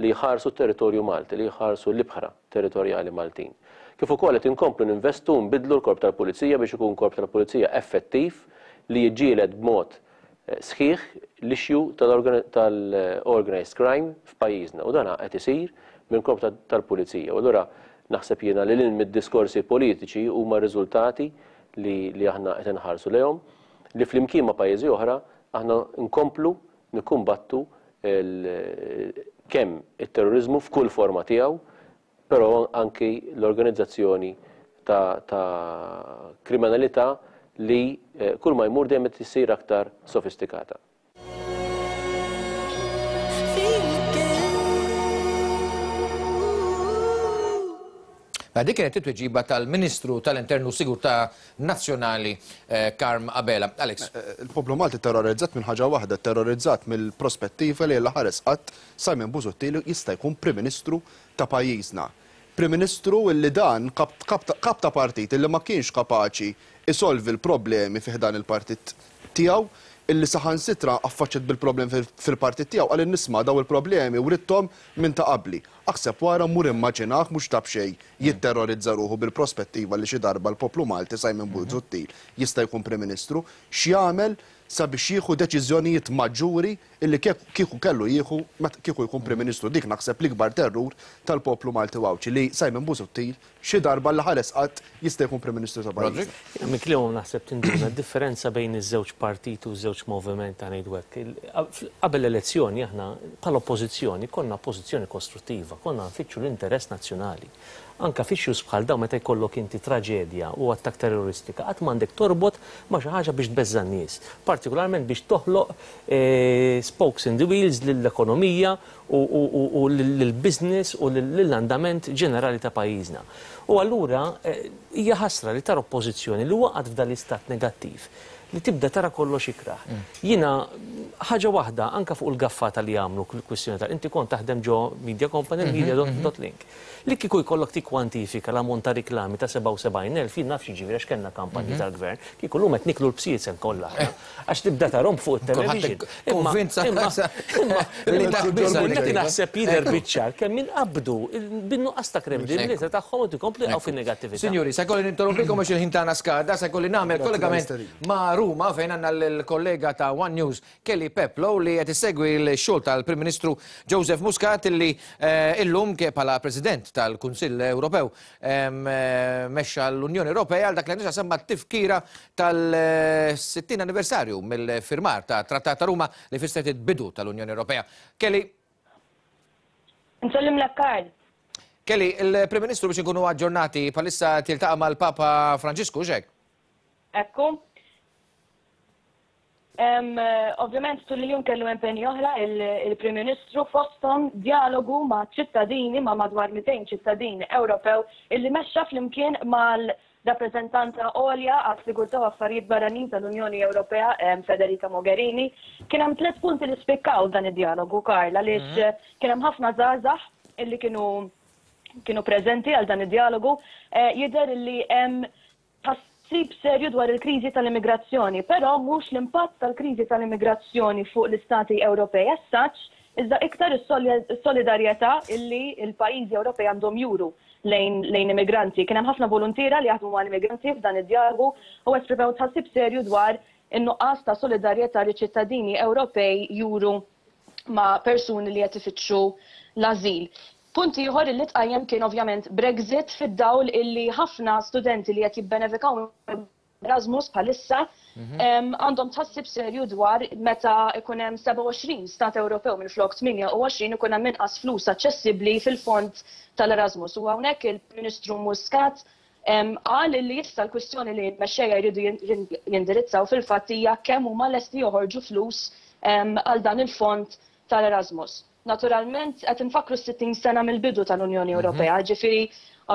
Speaker 19: li jħarsu t-territorju Malti, li jħarsu l-ibħra territorjali Maltin. Kif ukoll qed inkomplu ninvestu nbidlu l-korp tal-Pulizija biex ikun korp tal-Pulizija effettiv li jiġġieled b'mod sħiħ l-issue tal-organized crime f'pajjiżna, u dan qed isir minn korp tal-Pulizija. U allura naħseb jiena li lil mid-diskorsi politiċi huma riżultati li aħna qed inħarsu lejhom, li flimkien ma' pajjiżi oħra aħna nkomplu nikkumbattu kemm it-terrorizmu f'kull forma tiegħu, però anki l-organizzazzjoni ta' kriminalità li kull ma jmur dejjem qed issir aktar sofistikata.
Speaker 1: Dik kienet it-tweġiba tal-Ministru tal-Internu Sigurtà Nazzjonali Karm Abela. Alex.
Speaker 2: Il-poplu Malti terrorizzat minn ħaġa waħda, terrorizzat mill-prospettiva li l-ħares qatt Simon Busuttil jista' jkun Prim Ministru ta' pajjiżna. Prim Ministru illi dan kap ta' partit illi ma kienx kapaċi isolvi l-problemi fi ħdan il-partit tiegħu, illi saħansitra affaċċet bil-problemi fil-partit tiegħu għal nisma' daw il-problemi u rittom minn ta' qabli. Aħseb wara mur immaġinaħ mhux ta' b'xejn jitterrorizza ruħu bil-prospettiva li xi darba l-poplu Malti Simon Busuttil jista' jkun Prim Ministru, x'jagħmel sabiex jieħu deċiżjonijiet maġġuri illi kieku kellu jieħu kieku jkun Prim Ministru. Dik naħseb l-ikbar terrur tal-poplu Malti Għawdxi li Simon Busuttil xi darba l ħares qatt jista' jkun Prim Ministru ta' pajjiżna.
Speaker 3: Minn kliemhom naħseb tinduna d-differenza bejn iż-żewġ partit u ż-żewġ moviment ta' ngħidu hekk. Qabel l-elezzjoni aħna bħala oppożizzjoni konna pożizzjoni kostruttiva, konna nfittxu l-interess nazzjonali. Anka f'issues bħal dawn meta jkollok inti traġedja u attak terroristika, qatt m'għandek torbot ma' xi ħaġa biex tbeżża' n-nies, partikolarment biex toħloq spokes in the wheels lill-ekonomija u lill-business u lill-andament ġenerali ta' pajjiżna. U allura hija ħasra li tara oppożizzjoni li waqgħet f'dan l-istat negattiv li tibda tara kollox ikrah. Jiena ħaġa waħda anka fuq il-gaffata li għamlu l-kwistjoni tal inti kont taħdem ġo Media Company, media dot link. Li kieku jkollok tikkwantifika l-ammont ta' riklami ta' sebgħa u sebgħin elf, jien nafx jiġifieri għax kellna kampanji tal-gvern, kieku llum qed niklu l-bsiet kollha aħna. Għax tibda tarhom fuq it-television.
Speaker 1: Konvinza
Speaker 3: li naħseb jidher biċ-ċar kemm inqabdu bin-nuqqas ta' kredibilità tagħhom u tikompli jaqgħu fin-negattività.
Speaker 1: Sinjuri, se jkolli ninterrompikom għax il-ħin tagħna skada, se jkolli nagħmel kollegament ma' Ruma fejn għandna l-kollega ta' One News Kelly Peplow li qed issegwi l-xogħol tal-Prim Ministru Joseph Muscat illi illum bħala President tal-Kunsill Ewropew mexxa l-Unjoni Ewropea għal dak li għandha semma t-tifkira tal-sittin anniversarju mill-firmar ta' Trattat ta' Ruma li fissret il-bidu tal-Unjoni Ewropea. Kelly.
Speaker 20: Nsellimlek Karl.
Speaker 1: Kelly, il-Prim Ministru biex inkunu aġġornati bħalissa tiltaqa' mal-Papa Franġisku, x'hekk?
Speaker 20: Ekku. Ovvjament tul il-jum kellu impenji oħra il-Prim Ministru fosthom dialogu ma' ċittadini ma' madwar mitejn ċittadin Ewropew illi mexxa flimkien mal-rappreżentanta għolja għas-Sigurtà u Affarijiet Barranin tal-Unjoni Ewropea Federica Mogherini. Kien hemm tliet punti li spikkaw dan id-dialogu, Karl, għaliex kien hemm ħafna żgħażagħ illi kienu kienu preżenti għal dan id-dialogu. Jidher illi hemm tħassib serju dwar il-kriżi tal-immigrazzjoni, però mhux l-impatt tal-kriżi tal-immigrazzjoni fuq l-Istati Ewropej as such, iżda iktar is-solidarjetà illi l-pajjiżi Ewropej għandhom juru lejn lejn immigranti. Kien hemm ħafna voluntiera li jaħdmu mal-immigranti f'dan id-dialogu u esprimew tħassib serju dwar in-nuqqas ta' solidarjetà li ċittadini Ewropej juru ma' persuni li qed ifittxu l-ażil. Punt ieħor li tqajjem kien ovvjament Brexit fid-dawl illi ħafna studenti li qed jibbenefikaw Erasmus bħalissa għandhom tħassib serju dwar meta ikun hemm sebgħa u għoxrin stat Ewropew minflok tmienja u għoxrin ikun hemm inqas flus aċċessibbli fil-fond tal-Erasmus. U hawnhekk il-Ministru Muscat qal li issa l-kwistjoni li l-mexxejja jridu jindirizzaw fil-fatt hija kemm huma lesti joħorġu flus għal dan il-fond tal-Erasmus. Naturalment, qed infakru sittin sena mill-bidu tal-Unjoni Ewropea, ġifieri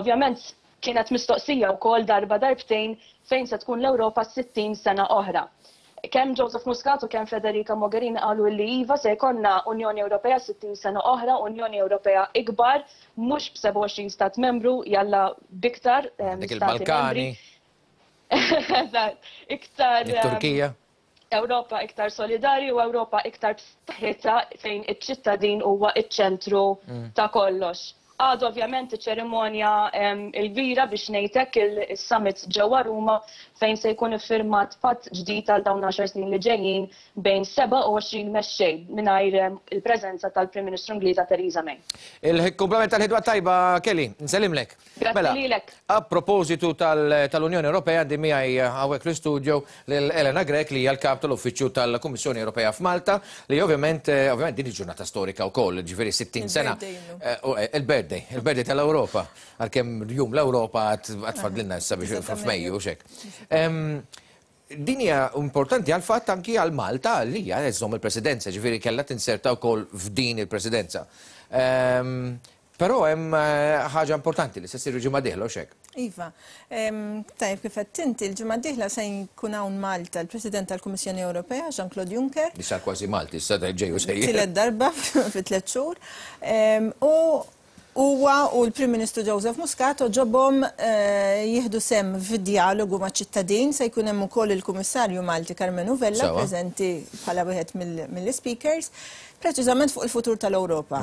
Speaker 20: ovvjament kienet mistoqsija wkoll darba darbtejn fejn se tkun l-Ewropa sittin sena oħra. Kemm Joseph Muscat u kemm Federica Mogherini qalu li iva se jkollna Unjoni Ewropea sittin sena oħra, Unjoni Ewropea ikbar, mhux b'sebgħa u għoxrin stat membru, jalla biktar
Speaker 1: Dik il-Balkani.
Speaker 20: Eżatt, iktar
Speaker 1: Turkija.
Speaker 20: Ewropa iktar solidari u Ewropa iktar b'saħħitha fejn iċ-ċittadin huwa iċ-ċentru ta' kollox. Għadu ovvjament iċ-ċerimonja il-kbira biex ngħidlek il-summit ġewwa Ruma fejn se jkun iffirmat patt ġdid għal dawn għaxar snin li ġejjin bejn sebgħa u għoxrin mexxej mingħajr il-preżenza tal-Prim Ministru Ingliża Theresa May.
Speaker 1: Il-kumplament tal-ħidwa tajba, Kelly, nsellimlek.
Speaker 20: Grazzi lilek.
Speaker 1: A propositu tal-Unjoni Ewropea, għandi miegħi hawnhekk fl-istudio lil Elena Grech li hija l-kap tal-Uffiċċju tal-Kummissjoni Ewropea f'Malta, li ovvjament ovvjament din il-ġurnata storika wkoll, ġifieri sittin sena. Il-birthday. Il-birthday tal-Ewropa, għalkemm jum l-Ewropa għatfadlilna issa biex f'Mejju u xek. Din hija importanti għal fatt anki għal Malta li hija żżomm il-presidenza, ġifieri kellha tinserta wkoll f'din il-presidenza. Però hemm ħaġa importanti li se ssir il-ġimgħa dieħla u xek.
Speaker 21: Iva, tajjeb kif qed inti l-ġimgħa dieħla se jkun hawn Malta l-President tal-Kummissjoni Ewropea Jean-Claude Juncker.
Speaker 1: Li sar kważi Malti, issa ġej u sejjer.
Speaker 21: Tielet darba fi tliet xhur. U huwa u l-Prim Ministru Joseph Muscat ġobhom jieħdu sem fid-dialogu maċ-ċittadin, se jkun hemm ukoll il-Kummissarju Malti Karmenu Vella preżenti bħala wieħed mill-speakers, preċiżament fuq il-futur tal-Ewropa.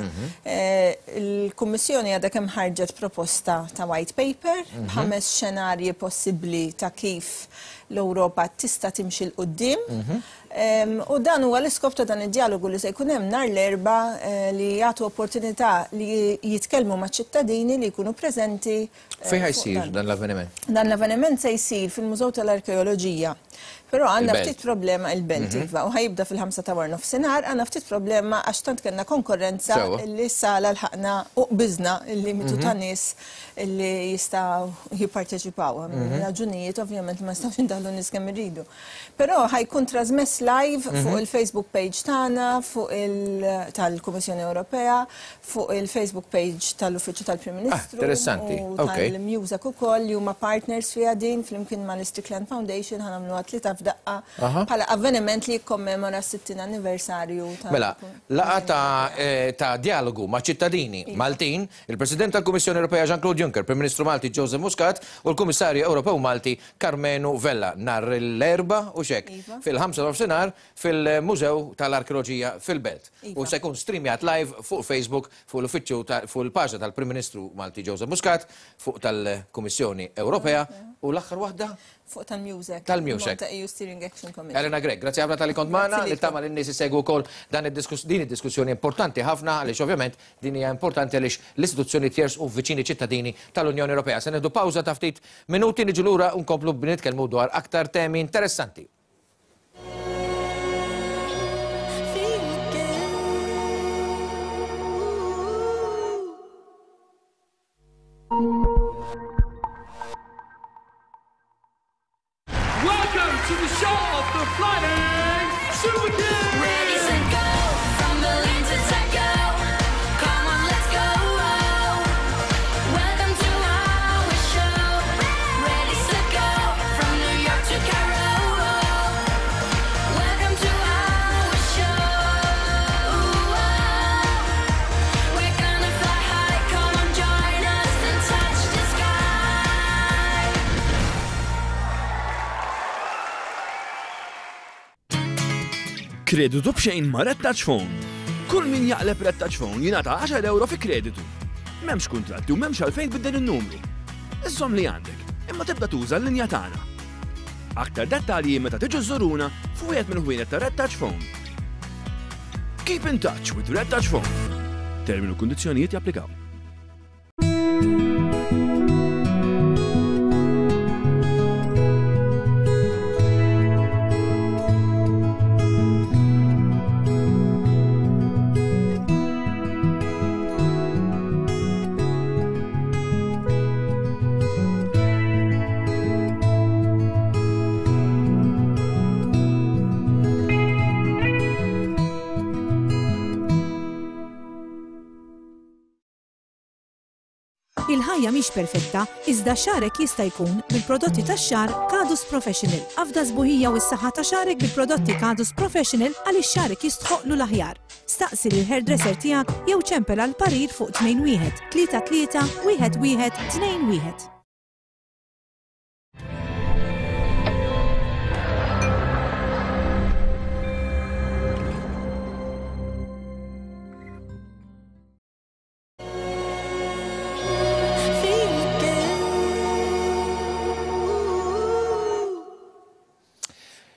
Speaker 21: Il-Kummissjoni għadha kemm ħarġet proposta ta' white paper b'ħames xenarji possibbli ta' kif l-Ewropa tista' timxi 'l quddiem. U dan huwa l-iskop ta' dan id-dialogu li se jkun hemm nhar l-Erbgħa li jagħtu opportunità li jitkellmu maċ-ċittadini li jkunu preżenti.
Speaker 1: Fejn ħa jsir dan l-avveniment?
Speaker 21: Dan l-avveniment se jsir fil-Mużew tal-Arkeoloġija. Però għandna ftit problema il-Belt, iva, u ħajibda fil-ħamsa ta' wara nofsinhar, għandna ftit problema għax tant kellna konkurrenza li s-sala lħaqna u qbiżna il-limitu ta' nies li jistgħu jipparteċipaw. Raġunijiet ovvjament ma nistgħux indaħlu nies kemm irridu. Però ħajkun trasmess live fuq il-Facebook page tagħna, fuq il tal-Kummissjoni Ewropea, fuq il-Facebook page tal-Uffiċċju tal-Prim Ministru.
Speaker 1: Interessanti.
Speaker 21: U tal-Mużak ukoll li huma partners fiha din flimkien mal-Strickland Foundation ħa nagħmluha tlieta f'daqqa bħala avveniment li jikkommemora s-sittin anniversarju ta'
Speaker 1: Mela, laqgħa ta' dialogu ma' ċittadini Maltin, il-President tal-Kummissjoni Ewropea Jean-Claude Juncker, Prim Ministru Malti Joseph Muscat u l-Kummissarju Ewropew Malti Karmenu Vella nhar l-Erbgħa u xek fil-ħamsa nofsinhar fil-Mużew tal-Arkeoloġija fil-Belt. U se jkun streamjat live fuq Facebook, fuq l-uffiċċju fuq il-paġna tal-Prim Ministru Malti Joseph Muscat, fuq tal-Kummissjoni Ewropea u l-aħħar waħda
Speaker 21: fuq tal-Mużek.
Speaker 1: Tal-Mużek.
Speaker 21: Malta E U Steering Action Committee.
Speaker 1: Elena Grech, grazzi ħafna tal-li kont magħna, li tama lin-nies isegwu wkoll dan din id-diskussjoni importanti ħafna għaliex ovvjament din hija importanti għaliex l-istituzzjoni jersqu viċini ċittadini tal-Unjoni Ewropea. Se nieħdu pawża ta' ftit minuti, niġu lura u nkomplu nitkellmu dwar aktar temi interessanti.
Speaker 10: Welcome to the show of the Flying Super Kids!
Speaker 11: Ready, set, go! From Berlin to Tokyo. Come on, let's go! Welcome to our show. Ready, set, go! From New York to Cairo. Welcome to our show. We're gonna fly high. Come on, join us and touch the sky.
Speaker 22: Kreditu b'xejn ma' Red Touch Phone. Kull min jaqleb Red Touch Phone jingħata għaxar euro fi kreditu. M'hemmx kuntratti u m'hemmx għalfejn tbiddel in-numru. Iżżomm li għandek, imma tibda tuża l-linja tagħna. Aktar dettalji meta tiġu żuruna f'wieħed minn ħwienet ta' Red Touch Phone. Keep in touch with Red Touch Phone. Termini u kundizzjonijiet japplikaw.
Speaker 9: Il-ħajja mhix perfetta, iżda xagħrek jista' jkun bil-prodotti tax-xagħar Kadus Professional. Afda sbuħija u s-saħħa ta' xagħrek bil-prodotti Kadus Professional għaliex xagħrek jistħoqlu l-aħjar. Staqsi lil hairdresser tiegħek jew ċempel għal parir fuq tnejn wieħed tlieta tlieta wieħed wieħed tnejn wieħed.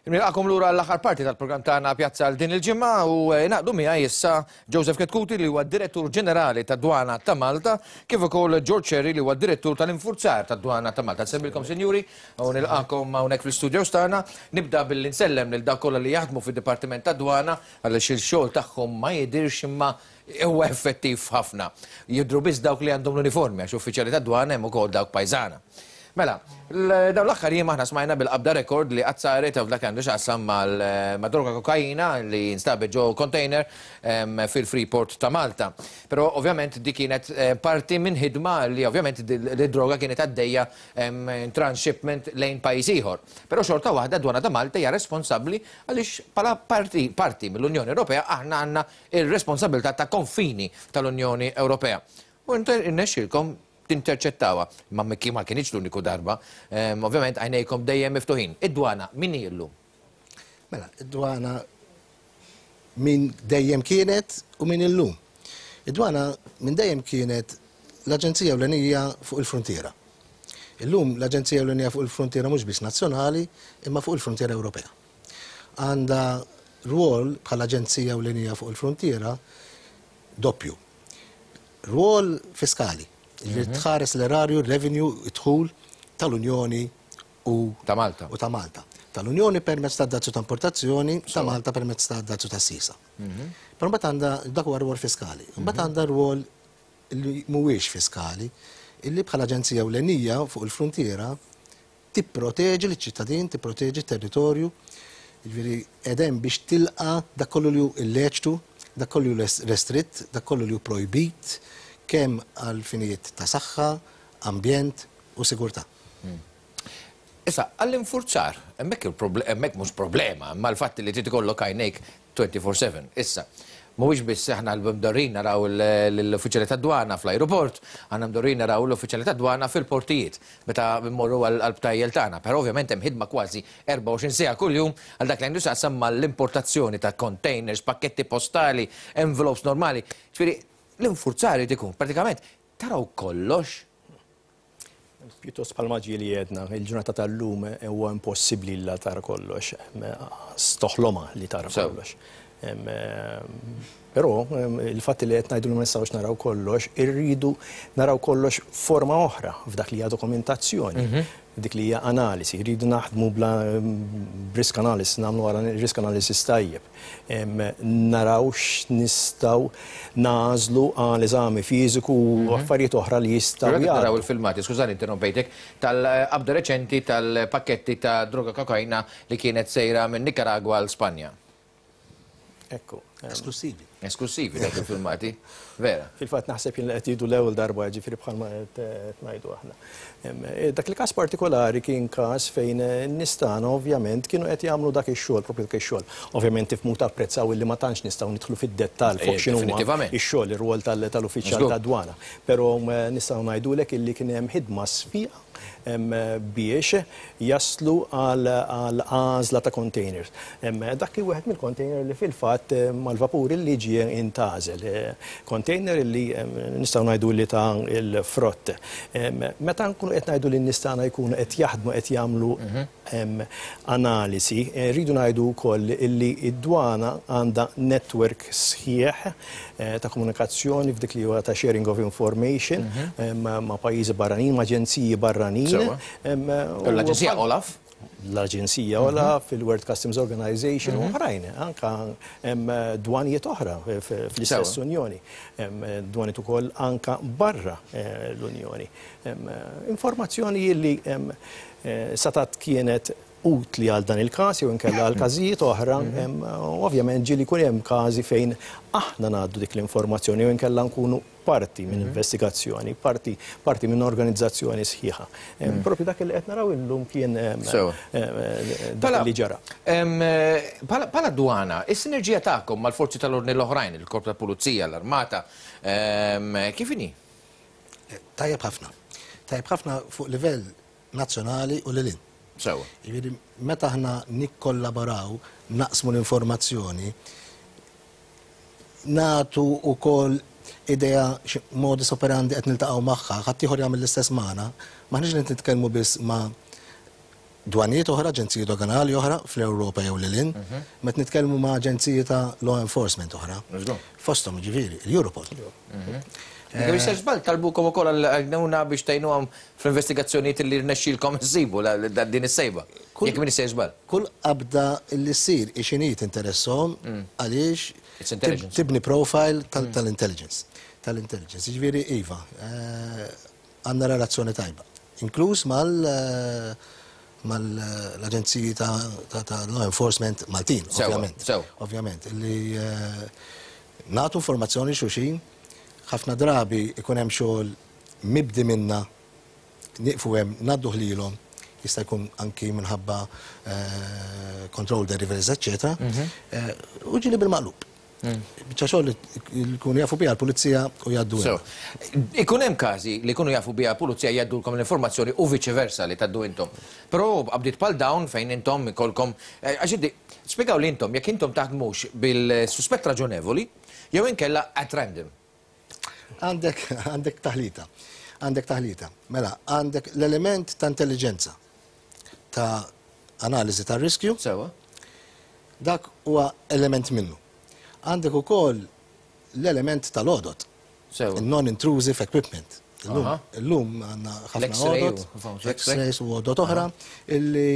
Speaker 1: Nilqakom lura l-aħħar parti tal-programm tagħna Pjazza għal din il-ġimgħa u naqdu miegħi issa Joseph Chetcuti li huwa direttur ġenerali tad-Dwana ta' Malta, kif ukoll George Scerri li huwa direttur tal-infurzar tad-Dwana ta' Malta. Nsemmilkom sinjuri u nilqakom hawnhekk fl-istudios tagħna. Nibda billi nsellem lil dawk kollha li jaħdmu fid-Dipartiment tad-Dwana għaliex il-xogħol tagħhom ma jidirx imma huwa effettiv ħafna. Jidhru biss dawk li għandhom l-uniformi għax uffiċjali tad-dwana hemm ukoll dawk pajżana. Mela, dawn l-aħħar jiem aħna smajna bil-qabda rekord li qatt saret f'dak għandu x'qasam mal-droga kokaina li instabet ġo container fil-Freeport ta' Malta. Però ovvjament di kienet parti minn ħidma li ovvjament l-droga kienet għaddejja transshipment lejn pajjiż ieħor. Però xorta waħda d-Dwana ta' Malta hija responsabbli għaliex bħala parti, parti mill-Unjoni Ewropea aħna għandna ir-responsabilità ta' konfini tal-Unjoni Ewropea. U irnexxielkom tinterċettawa, ma ma kienx l-uniku darba, ovvjament għajnejkom dejjem miftuħin. Id-dwana min hi llum?
Speaker 5: Mela, id-dwana min dejjem kienet u min illum. Id-dwana min dejjem kienet l-Aġenzija Ewlenija fuq il-Frontiera. Illum l-Aġenzija Ewlenija fuq il-Frontiera mhux biss nazzjonali, imma fuq il-Frontiera Ewropea. Għandha rwol bħala Aġenzija Ewlenija fuq il-Frontiera doppju. Rwol fiskali. Ġifieri tħares l-erarju, revenue, id-dħul tal-Unjoni u
Speaker 1: ta' Malta.
Speaker 5: U ta' Malta. Tal-Unjoni permezz ta' dazzu ta' importazzjoni, ta' Malta permezz ta' dazzu ta' sisa. Però mbagħad għandha dak huwa rwol fiskali. Mbagħad għandha rwol li mhuwiex fiskali, illi bħala aġenzija ewlenija fuq il-frontiera tipproteġi liċ-ċittadin, tipproteġi t-territorju, jiġifieri qegħdem biex tilqa' dak kollu li hu illeċtu, dak kollu li hu restritt, dak kollu li hu projbit, kemm għal finijiet ta' saħħa, ambjent u sigurtà.
Speaker 1: Issa, għall-infurzar, hemmhekk hemmhekk mhux problema, imma l-fatt li trid ikollok għajnejk twenty-four seven. Issa, mhuwiex biss aħna l-mdorrin naraw l-uffiċjali tad-dwana fl-ajruport, għandna mdorrin naraw l-uffiċjali tad-dwana fil-portijiet meta mmorru għall-btajjel tagħna. Però ovvjament hemm ħidma kważi erbgħa u għoxrin siegħa kuljum għal dak li għandu x'jaqsam mal-importazzjoni ta' containers, pakketti postali, envelopes normali. Ġifieri, l-infurzar irid ikun pratikament taraw kollox.
Speaker 6: Pjuttost bħalma ġieli għedna, il-ġurnata tal-lum huwa impossibbli li tara kollox, stoħloma li tara kollox. Però il-fatt li qed ngħidu li ma nistgħux naraw kollox, irridu naraw kollox forma oħra f'dak li hija dokumentazzjoni, dik li hija analisi, irridu naħdmu bla risk analysis, nagħmlu risk analysis tajjeb. Naraw x'nistgħu nażlu għal eżami fiżiku u affarijiet oħra li jistgħu jagħmlu.
Speaker 1: Naraw il-filmati, skużani interrompejtek, tal-qabda reċenti tal-pakketti ta' droga kokaina li kienet sejra minn Nicaragua għal Spanja.
Speaker 6: Ekku.
Speaker 5: Esklusivi.
Speaker 1: Esklusivi dak il-filmati, vera.
Speaker 6: Fil-fatt naħseb jien li qed jgħidu l-ewwel darba, ġifieri bħalma qed ngħidu aħna. Dak il-każ partikolari kien każ fejn n-nies tagħna ovvjament kienu qed jagħmlu dak ix-xogħol, propju dak ix-xogħol. Ovvjament tifhmu tapprezzaw illi ma tantx nistgħu nidħlu fid-dettall fuq x'inhu ix-xogħol, ir-rwol tal-uffiċjal tad-dwana. Però nistgħu ngħidulek illi kien hemm ħidma sfiqa biex jaslu għal għażla ta' containers. Dak kien wieħed mill-container li fil-fatt mal-vapur li ġie intażel. Container li nistgħu ngħidu li ta' il-frott. Meta nkunu qed ngħidu li n-nies tagħna jkunu qed jaħdmu qed jagħmlu analisi, rridu ngħidu wkoll li d-dwana għandha network sħiħ ta' komunikazzjoni f'dik li huwa ta' sharing of information ma' pajjiżi barranin, ma' aġenziji barranin.
Speaker 1: L-Aġenzija Olaf?
Speaker 6: L-Aġenzija Olaf, il-World Customs Organization u oħrajn, anka dwanijiet oħra fl-istess Unjoni, dwanijiet ukoll anka barra l-Unjoni. Informazzjoni li satat kienet utli għal dan il-każ jew inkella għal każijiet oħra, ovvjament ġieli jkun hemm każi fejn aħna ngħaddu dik l-informazzjoni jew inkella nkunu parti minn investigazzjoni, parti parti minn organizzazzjoni sħiħa. Propju dak li qed naraw illum kien dak li ġara.
Speaker 1: Bħala dwana, is-sinerġija tagħkom mal-forzi tal-ordni l-oħrajn, il-Korp tal-Pulizija, l-Armata, kif inhi?
Speaker 5: Tajjeb ħafna. Tajjeb ħafna fuq livell nazzjonali u lil hinn.
Speaker 1: Sewa.
Speaker 5: Jiġifieri meta aħna nikkollaboraw, naqsmu l-informazzjoni, nagħtu wkoll idea modus operandi qed niltaqgħu magħha, ħadd ieħor jagħmel l-istess magħna, m'aħniex qed nitkellmu biss ma' dwanijiet oħra, aġenziji doganali oħra fl-Ewropa jew lil hinn, meta nitkellmu ma' aġenziji ta' law enforcement oħra. Fosthom jiġifieri l-Europol.
Speaker 1: Jekk mhix żball talbukom ukoll għal-għajnuna biex tgħinuhom fl-investigazzjonijiet li rnexxielkom issibu din is-sejba. Jekk m'iniex żball.
Speaker 5: Kull qabda li ssir ixinhi tinteressahom għaliex tibni profile tal-intelligence. Tal-intelligence. Jiġifieri iva, għandna relazzjoni tajba. Inkluż mal mal-aġenziji ta' law enforcement Maltin, ovvjament. Ovvjament, li nagħtu informazzjoni xulxin. Ħafna drabi ikun hemm xogħol mibdi minna, nieqfu hemm ngħadduh lilhom, jista' jkun anki minħabba control deliveries, eċċetera. U ġieli bil-maqlub. Biċċa xogħol li jkunu jafu biha l-pulizija u jgħaddu.
Speaker 1: Ikun hemm każi li jkunu jafu biha l-pulizija jgħaddulkom l-informazzjoni u viċi versa li tgħaddu intom. Però qabdiet bħal dawn fejn intom ikolkom għax inti spjegaw li intom jekk intom taħdmux bil-suspett raġonevoli jew inkella at random.
Speaker 5: Għandek għandek taħlita, għandek taħlita. Mela, għandek l-element ta' intelligenza, ta' analiżi ta' riskju.
Speaker 1: Sewa.
Speaker 5: Dak huwa element minnu. Għandek ukoll l-element tal-għodot.
Speaker 1: Sewa.
Speaker 5: Non-intrusive equipment. Illum għandna ħafna għodot, X-rays u għodot oħra, illi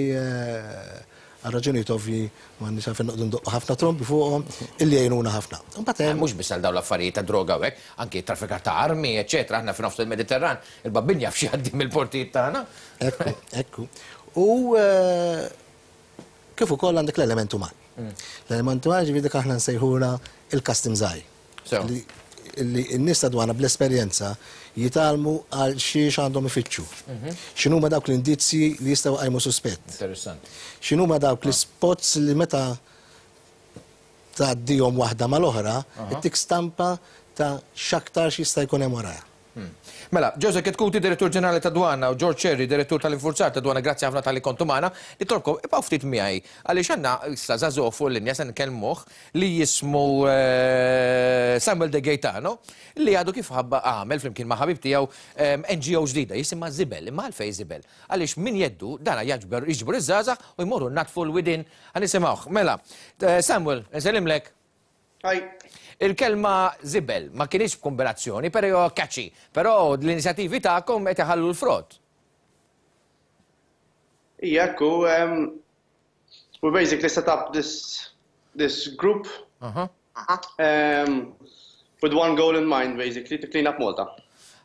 Speaker 5: għal raġunijiet ovvji m'għandniex għalfejn noqogħdu ndoqqu ħafna trombi fuqhom illi jgħinuna ħafna.
Speaker 1: Mhux biss għal dawn l-affarijiet ta' droga u hekk, anki traffikar ta' armi, eċċetera, aħna f'nofs il-Mediterran, il-babbin jaf xi jgħaddi mill-portijiet tagħna.
Speaker 5: Ekku, ekku. U kif ukoll għandek l-element uman. L-element uman ġifieri dik aħna nsejħulha il-customs eye. Illi n-nies ta' dwana bl-esperjenza jitgħallmu għal xiex għandhom ifittxu. X'inhuma dawk l-indizji li jistgħu jqajmu suspett.
Speaker 1: Interessanti.
Speaker 5: X'inhuma dawk l-ispots li meta tgħaddihom waħda mal-oħra, ittik stampa ta' x'aktar x'jista' jkun hemm warajha.
Speaker 1: Mela, Joseph Chetcuti, Direttur Ġenerali ta' Dwana, u George Scerri, Direttur tal-Infurzar ta' Dwana, grazzi ħafna tal-li kontu magħna. Nitolbkom, ibqgħu ftit miegħi, għaliex għandna issa żagħżugħ fuq il-linja se nkellmuh li jismu Samuel De Gaetano, li għadu kif ħabba għamel flimkien ma' ħabib tiegħu N G O ġdida, jisimha Żibel, imma għalfejn Żibel? Għaliex min jeddu dana jaġber jiġbru iż-żgħażagħ u jmorru natfu l-widien. Ħanisimgħuh. Mela, Samuel, nsellimlek.
Speaker 7: Hi.
Speaker 1: Il-kelma żibel ma kienx b'kombinazzjoni, però catchy, però l-inizjattivi tagħkom qed iħallu l-frott.
Speaker 7: Ija, ekku, we basically set up this, this group uh-huh. um, with one goal in mind, basically, to clean up Malta.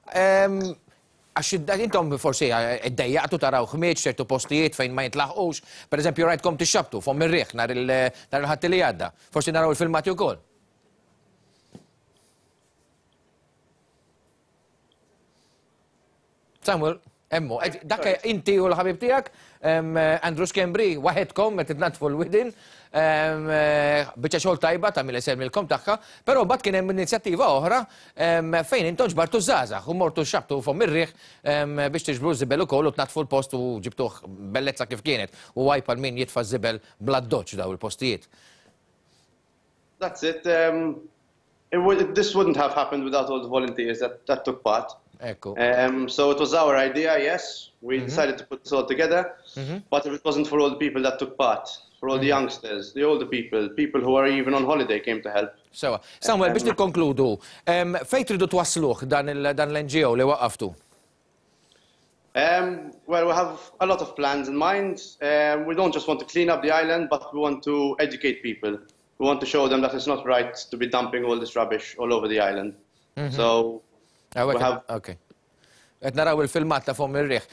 Speaker 1: Għax intom forsi iddejjaqtu taraw ħmieġ ċertu postijiet fejn ma jintlaħqux, per eżempju rajtkom tixxabtu fomm ir-riħ nhar il-Ħadd li għadda. Forsi naraw il-filmati wkoll. Samuel, emmu, dak inti u l-ħabib tiegħek, Andrew Schembri, waħedkom qed titnatfu l-widin, biċċa xogħol tajba ta' mill isemmilkom tagħha, però mbagħad kien hemm inizjattiva oħra fejn intom ġbartu żgħażagħ u mortu xabtu fomm ir-riħ biex tiġbru żibel ukoll u tnatfu l-post u ġibtuh bellezza kif kienet u għajb għal min jitfa' żibel bla doċ daw il-postijiet.
Speaker 7: That's it. Um, it would, this wouldn't have happened without all the volunteers that, that took part.
Speaker 1: Ekku.
Speaker 7: Um, so it was our idea, yes. We mm-hmm. decided to put this all together. Mm-hmm. But if it wasn't for all the people that took part, for all mm-hmm. the youngsters, the older people, people who are even on holiday came to help.
Speaker 1: Sewa. Samuel, biex nikkonkludu, um, fejn tridu twasluh dan l-N G O li waqqaftu?
Speaker 7: Um, well, we have a lot of plans in mind. Um, we don't just want to clean up the island, but we want to educate people. We want to show them that it's not right to be dumping all this rubbish all over the island. Mm-hmm. So,
Speaker 1: we have... Okay. Qed naraw il-filmat ta' fomm ir-riħ.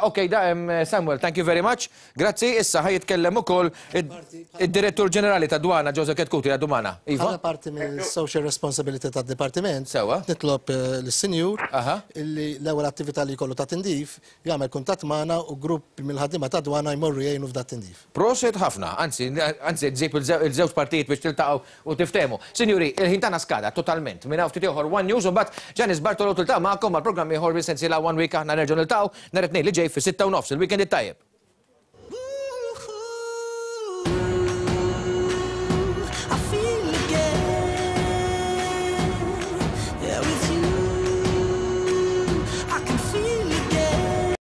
Speaker 1: Ok, da, Samuel, thank you very much. Grazzi, issa ħa jitkellem ukoll id-Direttur Ġenerali ta' Dwana Joseph Chetcuti għadu magħna. Iva?
Speaker 5: Bħala parti mill social responsibility tad-dipartiment. Sewa. Nitlob eh, lis-sinjur illi l-ewwel attività li jkollu ta' tindif jagħmel kuntatt magħna u grupp mill-ħaddiema ta' dwana jmorru jgħinu f'dat tindif.
Speaker 1: Prosit ħafna, anzi, anzi ġib il-żewġ partijiet biex tiltaqgħu u tiftehmu. Sinjuri, il-ħin tagħna skada totalment. Minn hawn ftit ieħor One News u mbagħad Janice Bartolo tiltaqa' magħkom mal-programm ieħor bis-sensiela One Week. Aħna nerġgħu niltaqgħu nhar it-Tnejn li ġej fis-sitta u nofs. Il-weekend it-tajjeb.